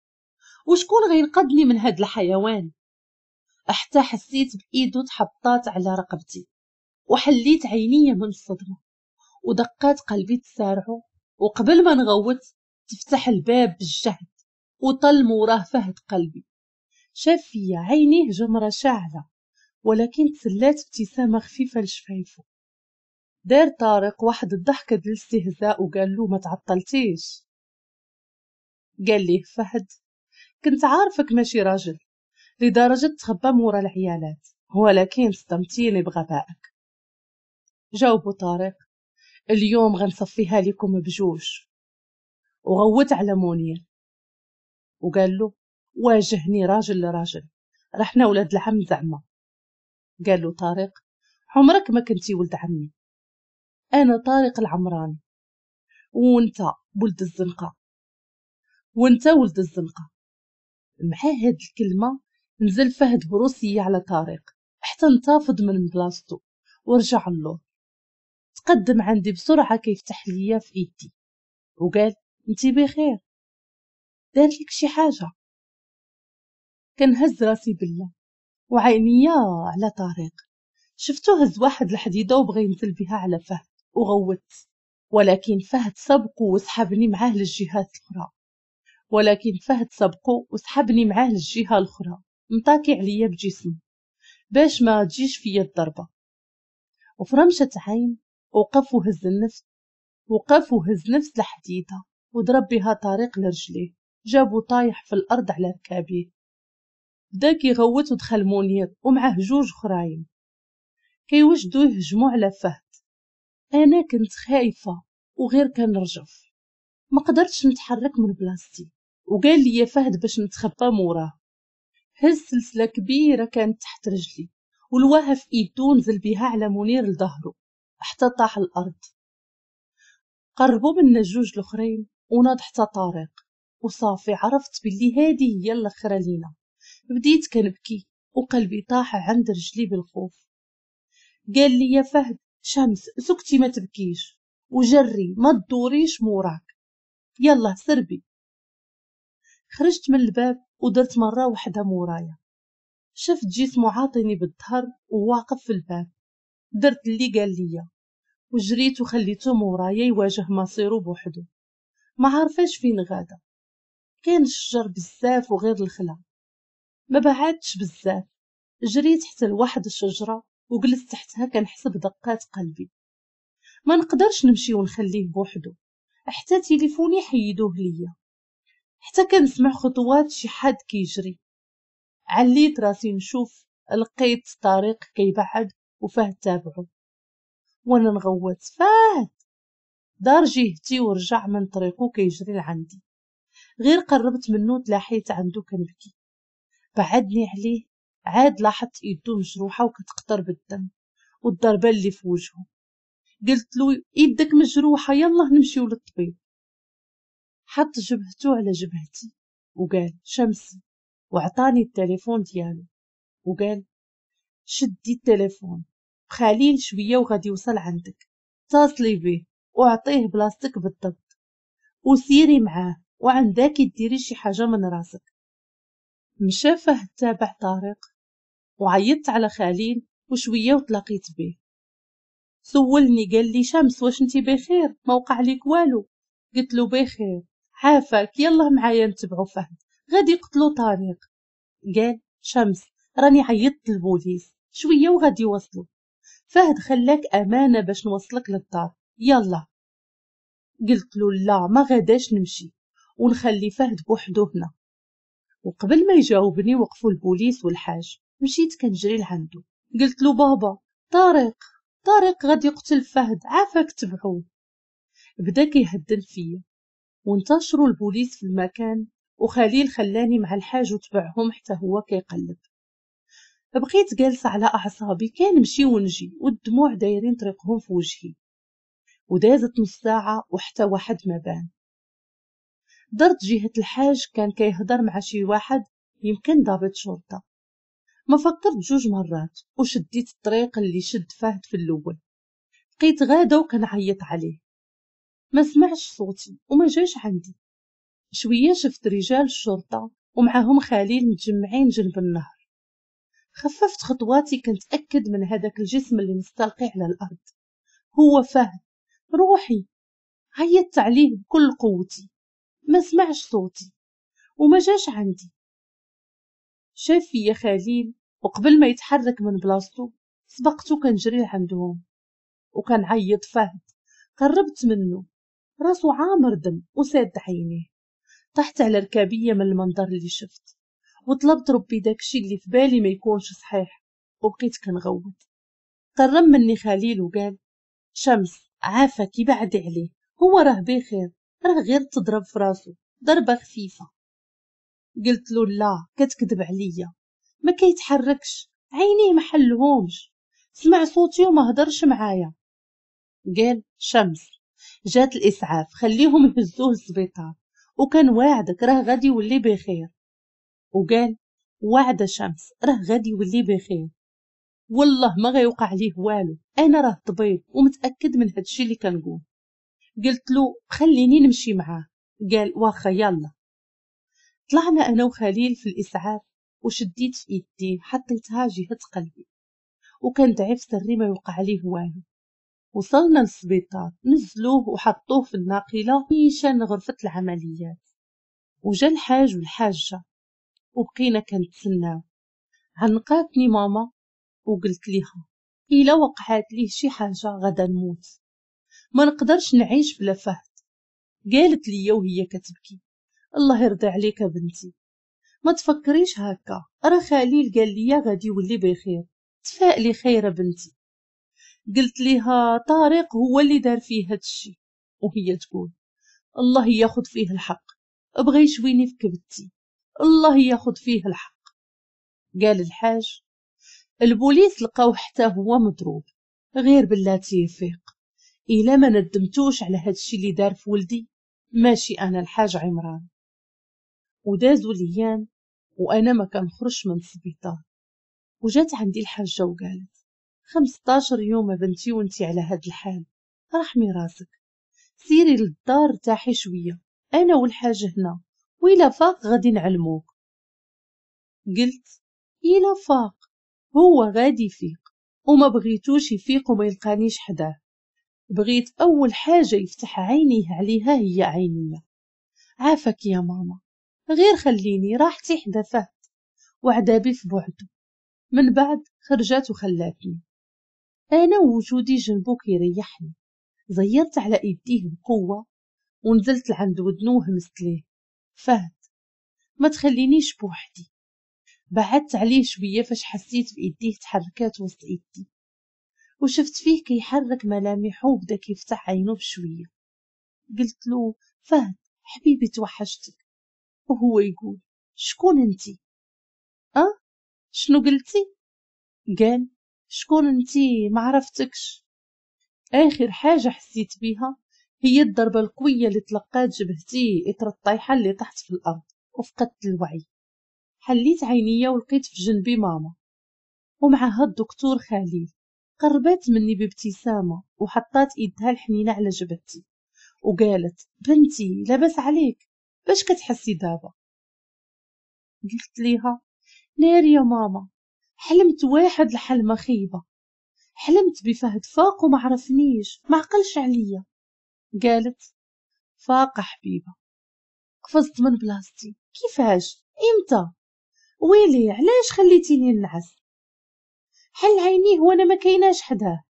وشكون غينقذني من هاد الحيوان. حتى حسيت بايدو تحطات على رقبتي وحليت عينيا من الصدمة ودقات قلبي تسارعوا. وقبل ما نغوت تفتح الباب بالجهد وطل موراه فهد قلبي. شاف فيا عينيه جمرة شاعله، ولكن تسلات ابتسامة خفيفة لشفايفو. دار طارق واحد الضحكة ديال الاستهزاء وقال له ما تعطلتيش. قال ليه فهد كنت عارفك ماشي راجل لدرجة تخبى مورا العيالات، ولكن صدمتيني بغبائك. جاوبو طارق اليوم غنصفيها لكم بجوج. وغوت على منير وقال له واجهني راجل لراجل، رحنا ولاد العم زعما. قال له طارق عمرك ما كنتي ولد عمي، انا طارق العمراني وانت ولد الزنقة، وانت ولد الزنقة. مع هاد الكلمة نزل فهد بروسيه على طارق حتى انتفض من بلاصتو ورجع له. تقدم عندي بسرعة كيفتح ليا في ايدي وقال انتي بخير، دار لك شي حاجة؟ كنهز راسي بالله وعينيا على طارق. شفتو هز واحد الحديدة وبغى ينزل بها على فهد وغوت، ولكن فهد سبقو وسحبني معاه للجهات الاخرى، ولكن فهد سبقو وسحبني معاه للجهة الاخرى مطاكي عليا بجسمه باش ما تجيش فيا الضربة. وفرمشه عين وقف وهز النفس، وقف وهز نفس الحديدة وضرب بها طارق لرجليه، جابو طايح في الارض على ركابيه. بدا كيغوت ودخل منير ومعاه جوج خراين كيوجدوا يهجموا على فهد. انا كنت خايفة وغير كنرجف، ما قدرتش نتحرك من بلاصتي. وقال لي فهد باش نتخبى موراه. هز سلسلة كبيرة كانت تحت رجلي ولواها في ايدو ونزل بها على منير لظهره حتى طاح الارض. قربوا منا الجوج الاخرين وناض حتى طارق، وصافي عرفت باللي هذه هي الاخرة لينا. بديت كنبكي وقلبي طاح عند رجلي بالخوف. قال لي يا فهد شمس سكتي ما تبكيش وجري ما تدوريش موراك، يلا سربي. خرجت من الباب ودرت مرة واحدة مورايا، شفت جسمه عاطيني بالظهر وواقف في الباب. درت اللي قال لي وجريت وخليته مورايا يواجه مصيره بوحده. ما عارفاش فين غادا، كان الشجر بزاف وغير الخلا. ما بعدتش بزاف، جريت حتى لواحد الشجرة وجلست تحتها كنحسب دقات قلبي. ما نقدرش نمشي ونخليه بوحده، حتى تليفوني حيدوه ليا. حتى كنسمع خطوات شي حد كيجري. عليت راسي نشوف، لقيت طارق كيبعد وفهد تابعه، وانا نغوت فهد. دار جهتي ورجع من طريقه كيجري لعندي. غير قربت منه تلاحيت عنده كنبكي. بعدني عليه، عاد لاحظت ايدو مجروحة وكتقطر بالدم والضربه اللي في وجهه. قلت له ايدك مجروحة، يلا نمشيو للطبيب. حط جبهته على جبهتي وقال شمسي، وعطاني التليفون ديالو وقال شدي التليفون، خليل شوية وغادي يوصل عندك، اتصلي به وعطية بلاصتك بالضبط وسيري معاه، وعندك ديري شي حاجة من راسك. مشى فهد تابع طارق، وعيطت على خليل وشوية وتلاقيت به. سولني قال لي شمس واش انتي بخير؟ ما وقع ليك والو؟ قلت له بخير، عافاك يلا معايا نتبعو فهد غادي يقتلو طارق. قال شمس راني عيطت للبوليس شوية وغادي يوصلو، فهد خلاك امانه باش نوصلك للدار، يلا. قلت له لا ما غاداش نمشي ونخلي فهد بوحدو هنا. وقبل ما يجاوبني وقفوا البوليس والحاج. مشيت كنجري لعندو، قلت له بابا طارق طارق غادي يقتل فهد، عافاك تبعوه. بدا كيهدن فيا، وانتشروا البوليس في المكان، وخليل خلاني مع الحاج وتبعهم حتى هو كيقلب. بقيت جالسة على اعصابي كنمشي ونجي والدموع دايرين طريقهم في وجهي. ودازت نص ساعة وحتى واحد ما بان. درت جهة الحاج كان كيهضر مع شي واحد يمكن ضابط شرطه. ما فكرت جوج مرات وشديت الطريق اللي شد فهد في الاول. بقيت غاده وكنعيط عليه، ما سمعش صوتي وما جاش عندي. شوية شفت رجال الشرطة ومعاهم خليل متجمعين جنب النهر. خففت خطواتي كنتاكد من هذاك الجسم اللي مستلقي على الارض هو فهد. روحي عيطت عليه بكل قوتي، ما سمعش صوتي وما جاش عندي. شاف فيا خليل وقبل ما يتحرك من بلاصتو سبقتو كنجري لعندهم وكنعيط فهد. قربت منه، راسو عامر دم وساد عينيه. طحت على ركابيه من المنظر اللي شفت، وطلبت ربي داكشي اللي في بالي ما يكونش صحيح، وبقيت كنغوت. قرب مني خليل وقال شمس عافاك بعدي عليه، هو راه بخير، راه غير تضرب في راسو ضربه خفيفة. قلت له لا كتكذب عليا، ما كيتحركش، عينيه ما حلهمش، سمع صوتي وما هضرش معايا. قال شمس جات الاسعاف خليهم يهزوه للسبيطار، وكان واعدك راه غادي يولي بخير. وقال وعد شمس راه غادي يولي بخير، والله ما غيوقع ليه والو، انا راه طبيب ومتاكد من هادشي اللي كنقول. قلت له خليني نمشي معاه، قال واخا يلا. طلعنا انا وخليل في الاسعاف وشديت في ايدي حطيتها جهة قلبي وكندعي في سري ما يوقع ليه والو. وصلنا للسبيطار، نزلوه وحطوه في الناقله نيشان غرفة العمليات. وجا الحاج والحاجة وبقينا كنتسناو. عنقاتني ماما وقلت ليها الا وقعات ليه شي حاجة غدا نموت، ما نقدرش نعيش بلا فهد. قالت لي وهي كتبكي الله يرضي عليك بنتي، ما تفكريش هكا، راه خليل قال لي غادي يولي بخير، تفائلي خير بنتي. قلت ليها طارق هو اللي دار فيه هادشي، وهي تقول الله ياخذ فيه الحق، بغى يشويني في كبدتي، الله ياخذ فيه الحق. قال الحاج البوليس لقاو حتى هو مضروب، غير بلاتي يفيق، الا ما ندمتوش على هادشي اللي دار في ولدي ماشي انا الحاج عمران. ودازوا الايام وانا ما كنخرجش من السبيطار. وجات عندي الحاجة وقالت خمسطاشر يوم بنتي وانتي على هاد الحال، رحمي راسك، سيري للدار ارتاحي شوية، انا والحاج هنا، وإلا فاق غادي نعلموك. قلت إلا فاق هو غادي يفيق، وما بغيتوش يفيق وما يلقانيش حداه، بغيت اول حاجة يفتح عينيه عليها هي عينيا. عافاك يا ماما، غير خليني راحتي حدا فهد وعذابي في بعده. من بعد خرجت وخلاتني انا وجودي جنبو كيريحني. زيرت على ايديه بقوة ونزلت لعند ودنو وهمست ليه فهد ما تخلينيش بوحدي. بعدت عليه شوية فاش حسيت بايديه تحركات وسط ايدي، وشفت فيه كيحرك ملامحه وبدا كيفتح عينه بشوية. قلت له فهد حبيبي توحشتك، وهو يقول شكون انتي؟ اه شنو قلتي؟ قال شكون انتي؟ ما عرفتكش. اخر حاجة حسيت بيها هي الضربة القوية اللي تلقات جبهتي اثر الطيحه اللي طحت في الارض وفقدت الوعي. حليت عينيا ولقيت في جنبي ماما ومعها الدكتور خليل. قربت مني بابتسامة وحطات ايدها الحنينه على جبهتي وقالت بنتي لاباس عليك، باش كتحسي دابا؟ قلت ليها ناري يا ماما، حلمت واحد الحلمة خيبه، حلمت بفهد فاق وما عرفنيش، ما عقلش عليا. قالت فاق حبيبه. قفزت من بلاصتي، كيفاش؟ امتى؟ ويلي علاش خليتيني نعس؟ حل عينيه وانا ما كايناش حداه.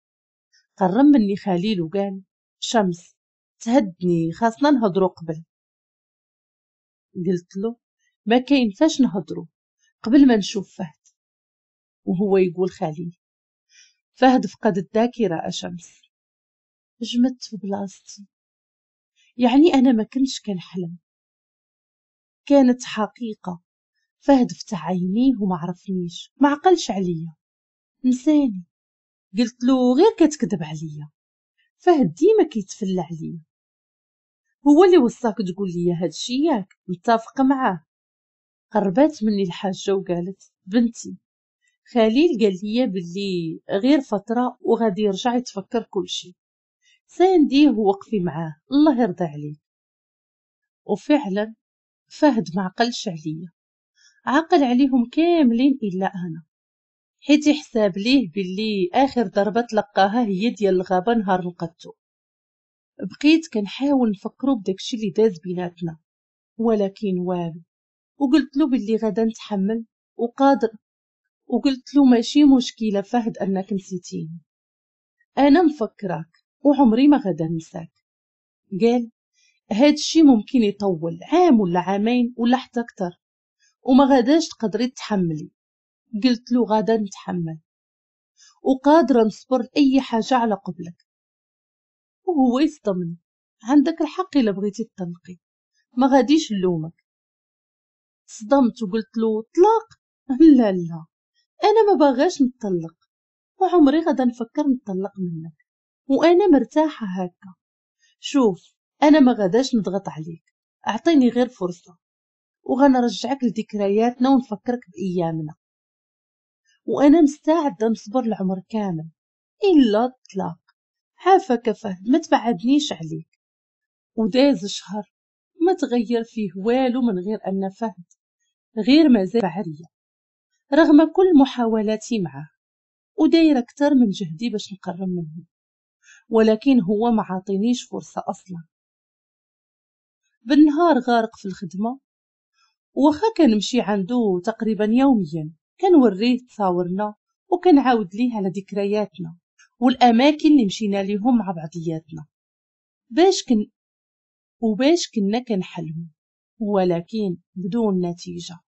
قرب مني خليل وقال شمس تهدني، خاصنا نهضرو قبل. قلت له ما كاين فاش نهضرو قبل ما نشوف فهد. وهو يقول خليل فهد فقد الذاكرة أشمس. جمدت في بلاصتي، يعني أنا ما كنتش كنحلم، كانت حقيقة. فهد فتح عينيه وما عرفنيش، ما عقلش عليا، نساني. قلت له غير كتكذب عليا، فهد ديما كيتفلى عليا، هو اللي وصاك تقول لي هادشي ياك، متفق معاه. قربات مني الحاجة وقالت بنتي خليل قال لي باللي غير فترة وغادي يرجع يتفكر كلشي، سانديه ووقفي معاه الله يرضى عليك. وفعلا فهد ما عقلش عليا، عقل عليهم كاملين الا انا، حيت يحساب ليه باللي اخر ضربه تلقاها هي ديال الغابة نهار لقطو. بقيت كنحاول نفكرو بداكشي اللي داز بيناتنا ولكن والو، وقلت له باللي غادا نتحمل وقادر، وقلت له ماشي مشكلة فهد انك نسيتيني، انا مفكراك وعمري ما غادا ننساك. قال هادشي ممكن يطول عام ولا عامين ولا حتى اكثر وما غاداش تقدري تحملي. قلت له غادا نتحمل وقادرة نصبر اي حاجة على قبلك. وهو يصدمني، عندك الحق الا بغيتي تطلقي ما غاديش نلومك. صدمت وقلت له طلاق؟ لا لا انا ما باغاش نطلق وعمري غادا نفكر نطلق منك، وانا مرتاحة هكا. شوف انا ما غاداش نضغط عليك، اعطيني غير فرصة وغنرجعك لذكرياتنا ونفكرك بايامنا، وانا مستعدة نصبر العمر كامل الا الطلاق. عافاك فهد ما تبعدنيش عليك. وداز شهر ما تغير فيه والو من غير ان فهد غير مازال بعريه رغم كل محاولاتي معه، ودايره اكثر من جهدي باش نقرب منه، ولكن هو ما عاطينيش فرصة اصلا. بالنهار غارق في الخدمة، واخا كنمشي عنده تقريبا يوميا كنوريه تصاورنا وكنعاود ليه على ذكرياتنا والاماكن اللي مشينا ليهم مع بعضياتنا باش كن وباش كنا كنحلموا، ولكن بدون نتيجة.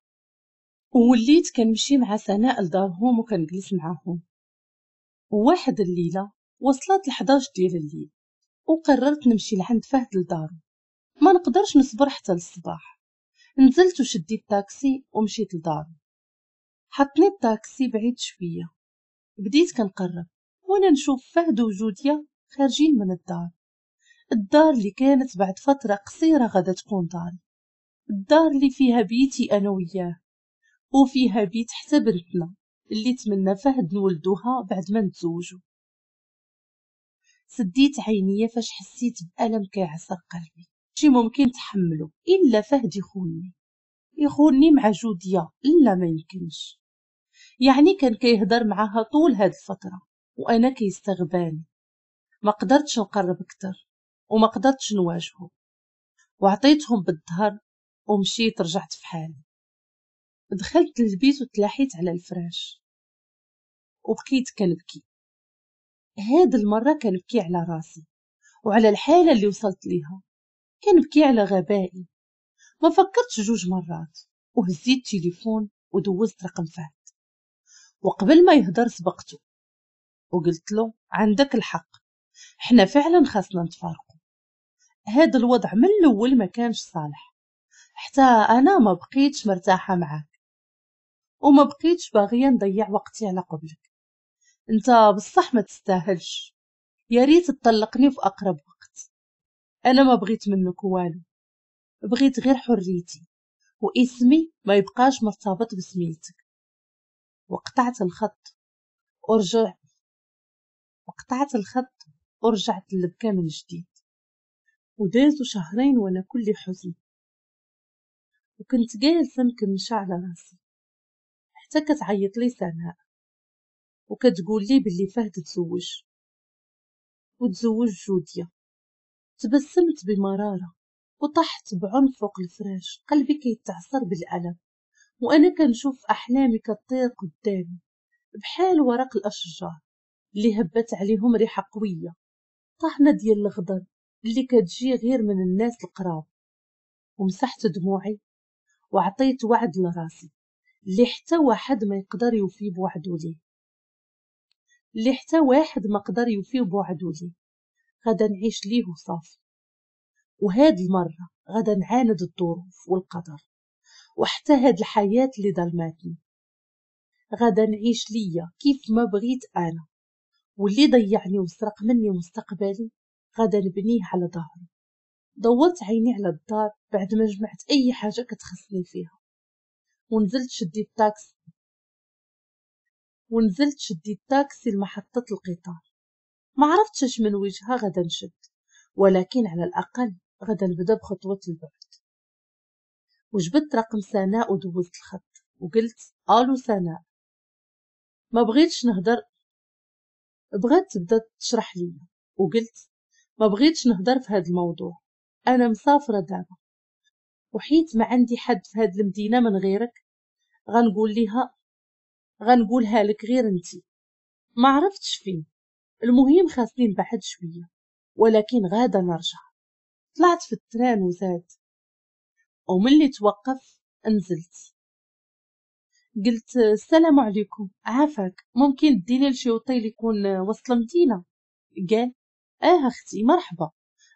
ووليت كنمشي مع سناء لدارهم وكنجلس معاهم. وواحد الليلة وصلت لحداش ديال الليل وقررت نمشي لعند فهد لدارو، ما نقدرش نصبر حتى للصباح. نزلت وشديت تاكسي ومشيت لدارو. حطني التاكسي بعيد شوية، بديت كنقرب وانا نشوف فهد وجوديا خارجين من الدار، الدار اللي كانت بعد فترة قصيرة غادا تكون داري، الدار اللي فيها بيتي انا وياه وفيها بيت حتى بنتنا اللي تمنى فهد نولدوها بعد ما نتزوجوا. سديت عينيا فاش حسيت بألم كيعصر قلبي، شي ممكن تحمله الا فهد يخونني، يخونني مع جوديا، لا ما يمكنش. يعني كان كيهضر معاها طول هاد الفترة وانا كيستغباني، ما قدرتش نقرب اكثر وما قدرتش نواجهه، وعطيتهم بالظهر ومشيت رجعت في حالي. دخلت للبيت وتلاحيت على الفراش وبقيت كنبكي. هاد المرة كنبكي على راسي وعلى الحالة اللي وصلت ليها، كنبكي على غبائي. ما فكرتش جوج مرات وهزيت تليفون ودوزت رقم فهد، وقبل ما يهدر سبقته وقلت له عندك الحق، حنا فعلا خاصنا نتفارقوا، هذا الوضع من الاول ما كانش صالح، حتى انا ما بقيتش مرتاحة معاك وما بقيتش باغية نضيع وقتي على قبلك، انت بصح ما تستاهلش، يا ريت تطلقني في اقرب وقت، انا ما بغيت منك والو، بغيت غير حريتي واسمي ما يبقاش مرتبط بسميتك. وقطعت الخط ورجع وقطعت الخط ورجعت للبكا من جديد. ودازوا شهرين وانا كل حزن، وكنت جالسة مكمشه على راسي حتى كتعيط لي سناء وكتقول لي باللي فهد تزوج وتزوج جوديا. تبسمت بمراره وطحت بعنف فوق الفراش، قلبي كيتعصر بالالم وانا كنشوف احلامي كطير قدامي بحال ورق الاشجار اللي هبت عليهم ريحه قوية، طحنه ديال الغدر اللي كتجي غير من الناس القراب. ومسحت دموعي وعطيت وعد لراسي اللي حتى واحد ما يقدر يوفي بوعدو ليه، اللي حتى واحد ما قدر يوفي بوعدو ليه، غادا نعيش ليه وصافي. وهاد المرة غادا نعاند الظروف والقدر وحتى هاد الحياة اللي ظلماتني، غادا نعيش ليا كيف ما بغيت أنا، واللي ضيعني وسرق مني مستقبلي غادا نبنيه على ظهري. دورت عيني على الدار بعد ما جمعت أي حاجة كتخصني فيها، ونزلت شديت تاكسي ونزلت شديت تاكسي لمحطة القطار. ما عرفتش اش من وجهها غادا نشد، ولكن على الأقل غادا نبدا بخطوة البعد. وجبدت رقم سناء ودوزت الخط وقلت الو سناء، ما بغيتش نهضر. بغات تبدا تشرح لي وقلت ما بغيتش نهضر في هذا الموضوع، انا مسافرة دابا وحيت ما عندي حد في هذه المدينة من غيرك غنقول ليها غنقولها لك غير انتي، ما عرفتش فين، المهم خاصني نبعد شوية ولكن غادا نرجع. طلعت في ال train وزاد، وملي توقف نزلت قلت السلام عليكم، عافاك ممكن ديني لشي اوتيل يكون وسط المدينة؟ قال اه اختي مرحبا،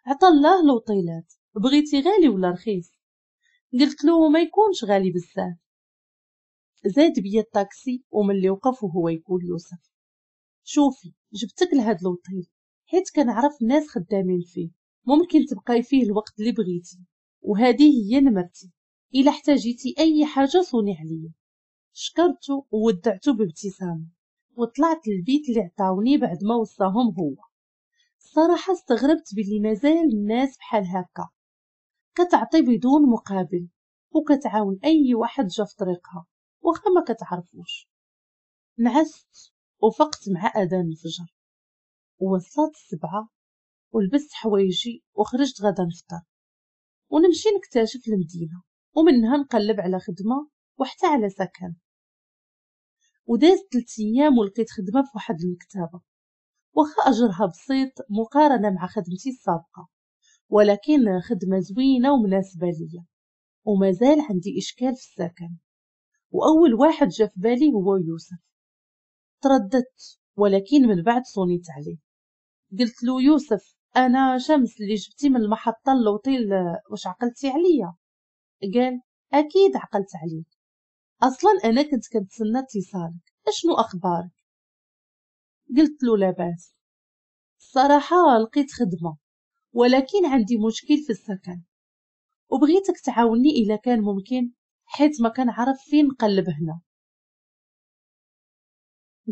عطا الله الاوتيلات، بغيتي غالي ولا رخيص؟ قلت له ما يكونش غالي بزاف. زاد بيا الطاكسي وملي وقف وهو يقول يوسف شوفي جبتك لهاد الاوتيل حيت كنعرف الناس خدامين فيه، ممكن تبقاي فيه الوقت اللي بغيتي، وهذه هي نمرتي، الا احتاجيتي اي حاجة صوني عليا. شكرته وودعته بابتسامة وطلعت للبيت اللي عطاوني بعد ما وصاهم هو. الصراحة استغربت باللي مازال الناس بحال هكا كتعطي بدون مقابل وكتعاون اي واحد جا في طريقها واخا ما كتعرفوش. نعست وفقت مع اذان الفجر ووصلت السبعة ولبست حوايجي وخرجت غدا نفطر ونمشي نكتشف المدينة ومنها نقلب على خدمة وحتى على سكن. ودازت ثلاث ايام ولقيت خدمة في واحد المكتبة، واخا اجرها بسيط مقارنة مع خدمتي السابقة، ولكن خدمة زوينة ومناسبة ليا، ومازال عندي اشكال في السكن. واول واحد جا في بالي هو يوسف. ترددت ولكن من بعد صونيت عليه قلت له يوسف انا شمس اللي جبتي من المحطة للوطيل، واش عقلتي عليا؟ قال اكيد عقلت عليك، اصلا انا كنت كنتسنى اتصالك، اشنو اخبارك؟ قلت له لاباس، الصراحة لقيت خدمة ولكن عندي مشكل في السكن وبغيتك تعاوني الا كان ممكن، حيت ما كنعرف فين نقلب هنا.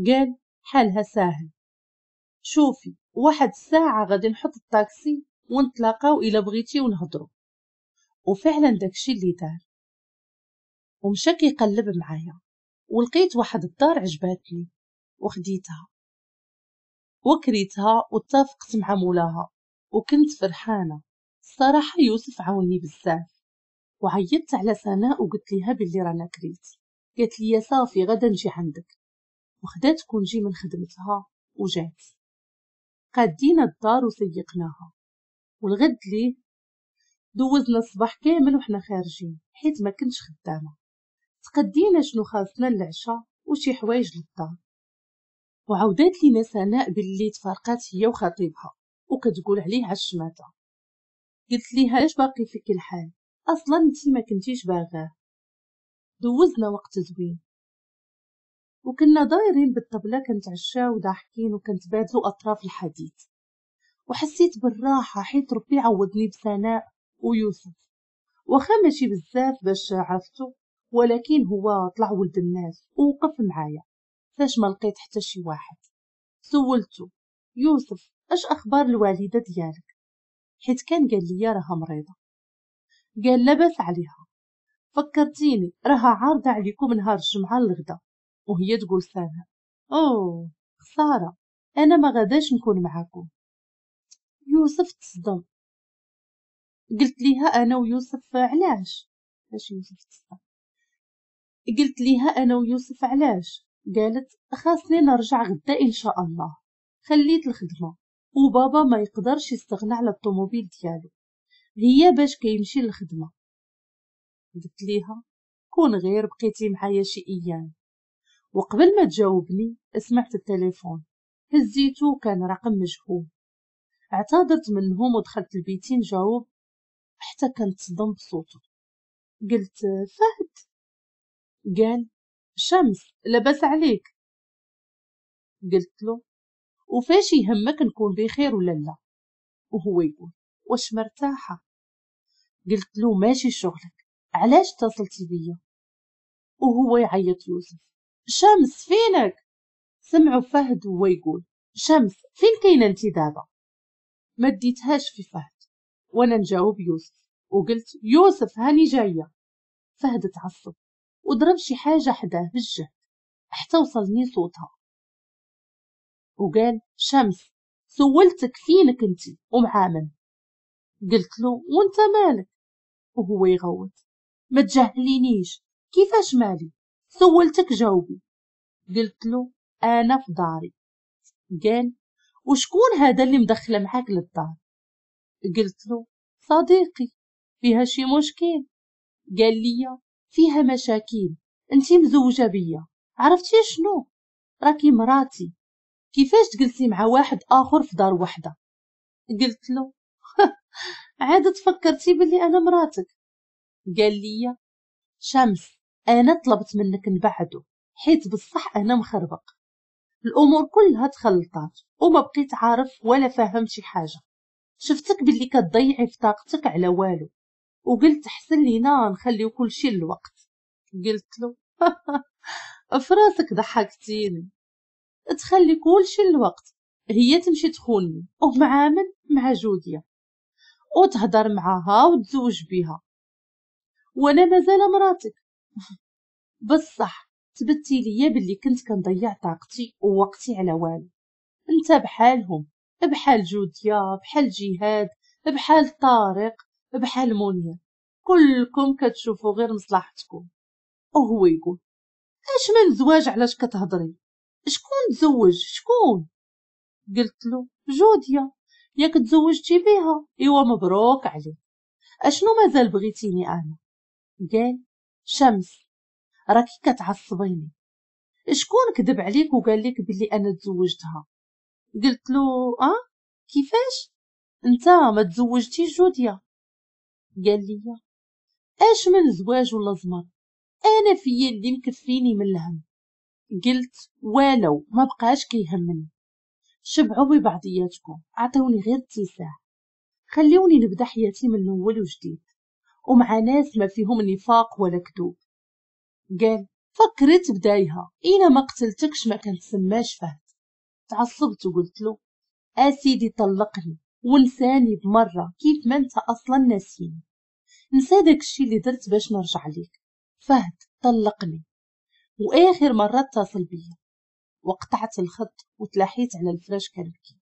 قال حالها ساهل، شوفي واحد الساعة غادي نحط الطاكسي ونتلاقاو الا بغيتي ونهضروا. وفعلا داكشي اللي دار، ومشى كيقلب معايا ولقيت واحد الدار عجباتني وخديتها وكريتها واتفقت مع مولاها وكنت فرحانة. الصراحة يوسف عاوني بزاف. وعيطت على سناء وقلت ليها باللي رانا كريت، قالت لي صافي غدا نجي عندك، وخدات congé من خدمتها وجات. قادينا الدار وسيقناها، والغد ليه دوزنا الصباح كامل وحنا خارجين حيت ما كنتش خدامه. تقدينا شنو خاصنا للعشاء وشي حوايج للدار. وعاودات لينا سناء باللي تفارقات هي وخطيبها وكتقول عليه عالشماتة. قلت ليها علاش باقي فيك الحال، اصلا انتي ما كنتيش باغاه. دوزنا وقت زوين وكنا دايرين بالطبله كنتعشاو وضاحكين وكنتبادلوا اطراف الحديث، وحسيت بالراحة حيت ربي عوضني بسناء ويوسف. واخا ماشي بزاف باش عرفتو، ولكن هو طلع ولد الناس ووقف معايا فاش ما لقيت حتى شي واحد. سولته يوسف اش اخبار الوالدة ديالك، حيت كان قال لي راها مريضه. قال لاباس عليها، فكرتيني راها عارضه عليكم نهار الجمعة الغدا. وهي تقول سناء اوه خسارة انا ما غاداش نكون معاكم. يوسف تصدم. قلت ليها انا ويوسف علاش؟ باش يوسف تصدم. قلت ليها انا ويوسف علاش؟ قالت خاصني نرجع غدا ان شاء الله، خليت الخدمة وبابا ما يقدرش يستغنى على الطوموبيل ديالو، هي باش كيمشي للخدمة. قلت ليها كون غير بقيتي معايا شي ايام. وقبل ما تجاوبني سمعت التليفون، هزيتو كان رقم مجهول. اعتذرت منهم ودخلت لبيتي نجاوب حتى كنتصدم بصوته. قلت فهد؟ قال شمس لاباس عليك؟ قلت له وفاش يهمك نكون بخير ولا لا؟ وهو يقول واش مرتاحة؟ قلت له ماشي شغلك، علاش اتصلتي بيا؟ وهو يعيط يوسف شمس فينك؟ سمعوا فهد وهو يقول شمس فين كاينه انت دابا؟ ما ديتهاش في فهد وانا نجاوب يوسف وقلت يوسف هاني جاية. فهد تعصب وضرب شي حاجة حداه بالجهد حتى وصلني صوتها وقال شمس سولتك فينك انت ومع من؟ قلت له وانت مالك؟ وهو يغوت ما تجهلينيش، كيفاش مالي؟ سولتك جاوبي. قلت له انا في داري. قال وشكون هذا اللي مدخله معاك للدار؟ قلت له صديقي. فيها شي مشكل؟ قال لي فيها مشاكل، انتي مزوجه بيا، عرفتي شنو؟ راكي مراتي، كيفاش تجلسي مع واحد اخر في دار وحده؟ قلت له عاد تفكرتي بلي انا مراتك؟ قال لي شمس انا طلبت منك نبعدو حيت بصح انا مخربق، الامور كلها تخلطات وما بقيت عارف ولا فاهم شي حاجة، شفتك باللي كتضيعي في طاقتك على والو وقلت احسن لينا نخليو كل شيء للوقت. قلت له فراسك ضحكتيني، تخلي كل شيء للوقت، هي تمشي تخوني ومع من؟ مع جوديا، وتهضر معاها وتزوج بها وانا مازال مراتك. بصح تبتي ليا باللي كنت كنضيع طاقتي ووقتي على والو، انت بحالهم، بحال جوديا، بحال جهاد، بحال طارق، بحال منير، كلكم كتشوفوا غير مصلحتكم. وهو يقول اش من زواج علاش كتهضري؟ شكون تزوج؟ شكون؟ قلت له جوديا، ياك تزوجتي بها، ايوا مبروك عليك، اشنو مازال بغيتيني انا؟ قال شمس راكي كتعصبيني، شكون كذب عليك وقال لك بلي انا تزوجتها؟ قلت له اه كيفاش انت ما تزوجتيش جوديا؟ قال لي اش من زواج ولا زمر، انا فيا اللي مكفيني من الهم. قلت ولو ما بقاش كيهمني، شبعوا ببعضياتكم، عطوني غير اتساع، خليوني نبدا حياتي من الاول وجديد ومع ناس ما فيهم نفاق ولا كذوب. قال فكرت بدايها، إلا ما قتلتكش ما كنتسماش فهد. تعصبت وقلت له اسيدي طلقني ونساني بمرة كيف ما انت اصلا ناسيني، نسى داكشي اللي درت باش نرجع ليك. فهد طلقني واخر مرة اتصل بيا، وقطعت الخط وتلاحيت على الفراش كنبكي.